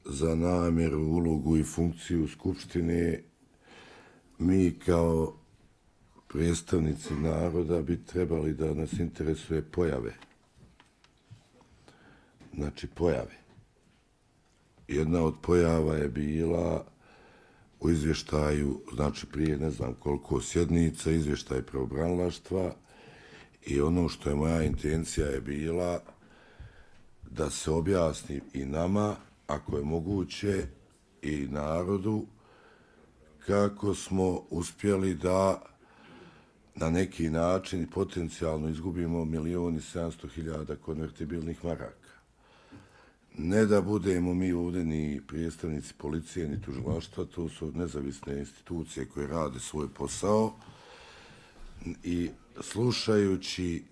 za namjeru, ulogu i funkciju Skupštine. Mi kao predstavnici naroda bi trebali da nas interesuje pojave. Znači pojave. Jedna od pojava je bila u izvještaju, znači prije ne znam koliko sjednica, izvještaj pravobranilaštva i ono što je moja intencija je bila da se objasni i nama, ako je moguće, i narodu, kako smo uspjeli da na neki način potencijalno izgubimo 1.700.000 konvertibilnih maraka. Ne da budemo mi ovdje ni predstavnici policije, ni tužilaštva, to su nezavisne institucije koje rade svoj posao i slušajući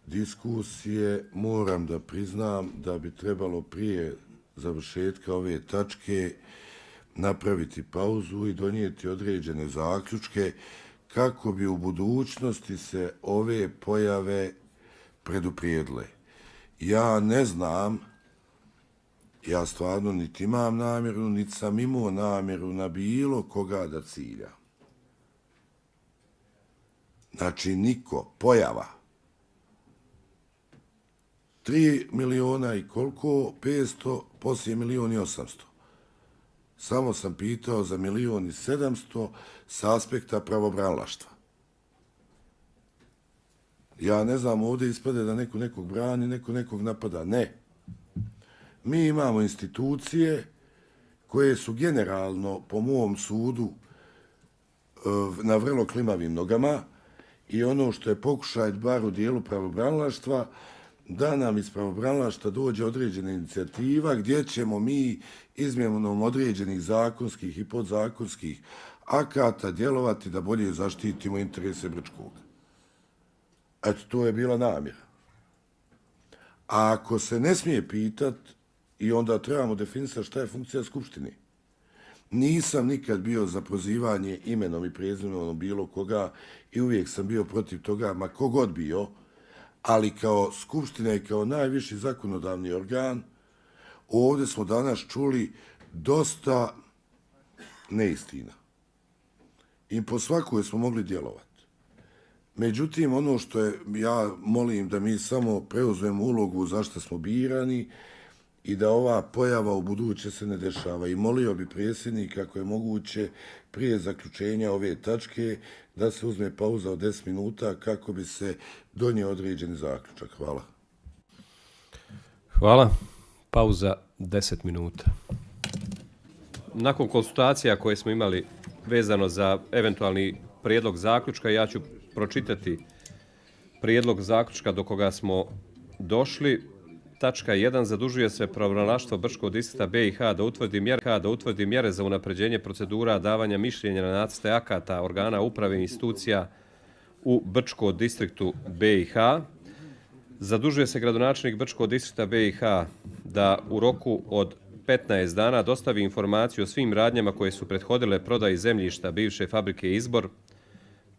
diskusije moram da priznam da bi trebalo prije završetka ove tačke napraviti pauzu i donijeti određene zaključke kako bi u budućnosti se ove pojave preduprijedile. Ja ne znam, ja stvarno niti imam namjeru, niti sam imao namjeru na bilo koga da cilja. Znači niko, pojava. 3 miliona i koliko? 500, poslije 1.800.000. Samo sam pitao za 1.700.000 s aspekta pravobranilaštva. Ja ne znam, ovdje ispade da neko nekog brani, neko nekog napada. Ne. Mi imamo institucije koje su generalno, po mom sudu, na vrlo klimavim nogama i ono što je pokušaj bar u dijelu pravobranilaštva, da nam iz pravobranilaštva dođe određena inicijativa gdje ćemo mi izmjenom određenih zakonskih i podzakonskih akata djelovati da bolje zaštitimo interese Brčkog. Eto, to je bila namjera. A ako se ne smije pitat, i onda trebamo definisati šta je funkcija Skupštine. Nisam nikad bio za prozivanje imenom i prezimenom bilo koga i uvijek sam bio protiv toga, ma kogod bio, ali kao Skupština i kao najviši zakonodavni organ, ovdje smo danas čuli dosta neistina. I po svakoj smo mogli djelovati. Međutim, ono što je, ja molim da mi samo preuzmemo ulogu zašto smo birani i da ova pojava u buduće se ne dešava. I molio bi predsjednik, ako je moguće, prije zaključenja ove tačke, da se uzme pauza od 10 minuta kako bi se donio određeni zaključak. Hvala. Hvala. Pauza 10 minuta. Nakon konsultacija koje smo imali vezano za eventualni prijedlog zaključka, ja ću pročitati prijedlog zaključka do koga smo došli. Tačka 1. Zadužuje se pravobranilaštvo Brčkog distrikta BiH da utvrdi mjere za unapređenje procedura davanja mišljenja na nacrte akata organa uprave i institucija u Brčkom distriktu BiH. Zadužuje se gradonačelnik Brčkog distrikta BiH da u roku od 15 dana dostavi informaciju o svim radnjama koje su prethodile prodaji zemljišta bivše fabrike Izbor,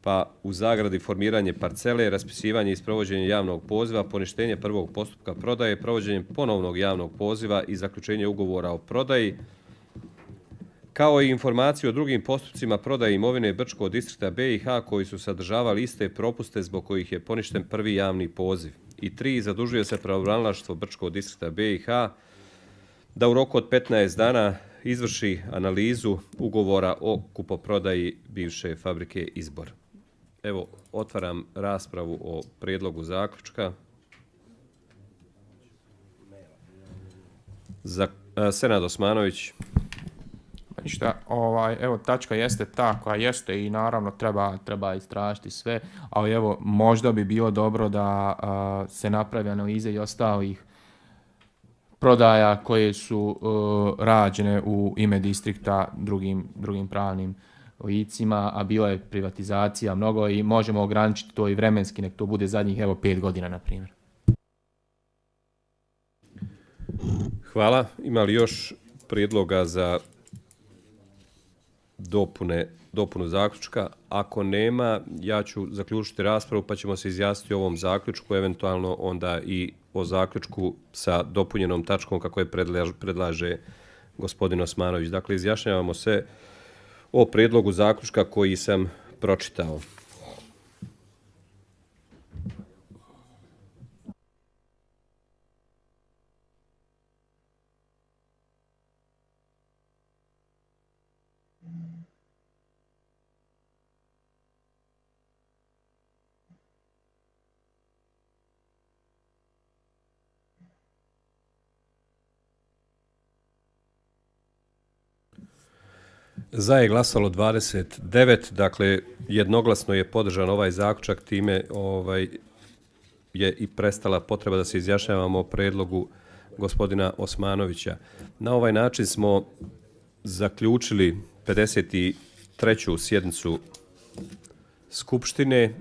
pa u zagradi formiranje parcele, raspisivanje i sprovođenje javnog poziva, poništenje prvog postupka prodaje, provođenje ponovnog javnog poziva i zaključenje ugovora o prodaji, kao i informaciju o drugim postupcima prodaje imovine Brčkog distrikta BiH koji su sadržavali iste propuste zbog kojih je poništen prvi javni poziv. I 3. Zadužuje se pravobranilaštvo Brčkog distrikta BiH da u roku od 15 dana izvrši analizu ugovora o kupoprodaji bivše fabrike Izbor. Evo, otvaram raspravu o prijedlogu zaključka. Senad Osmanović. Ništa, evo tačka jeste ta koja jeste i naravno treba istražiti sve, ali evo možda bi bilo dobro da se napravi analize i ostalih prodaja koje su rađene u ime distrikta drugim pravnim licima, a bila je privatizacija mnogo i možemo ograničiti to i vremenski, nek to bude zadnjih 5 godina, na primjer. Hvala. Ima li još prijedloga za dopunu zaključka? Ako nema, ja ću zaključiti raspravu pa ćemo se izjasniti o ovom zaključku, eventualno onda i o zaključku sa dopunjenom tačkom kako je predlaže gospodin Osmanović. Dakle, izjašnjavamo se o prijedlogu zaključka koji sam pročitao. Za je glasalo 29, dakle jednoglasno je podržan ovaj zaključak, time je i prestala potreba da se izjašnjavamo o predlogu gospodina Osmanovića. Na ovaj način smo zaključili 53. sjednicu Skupštine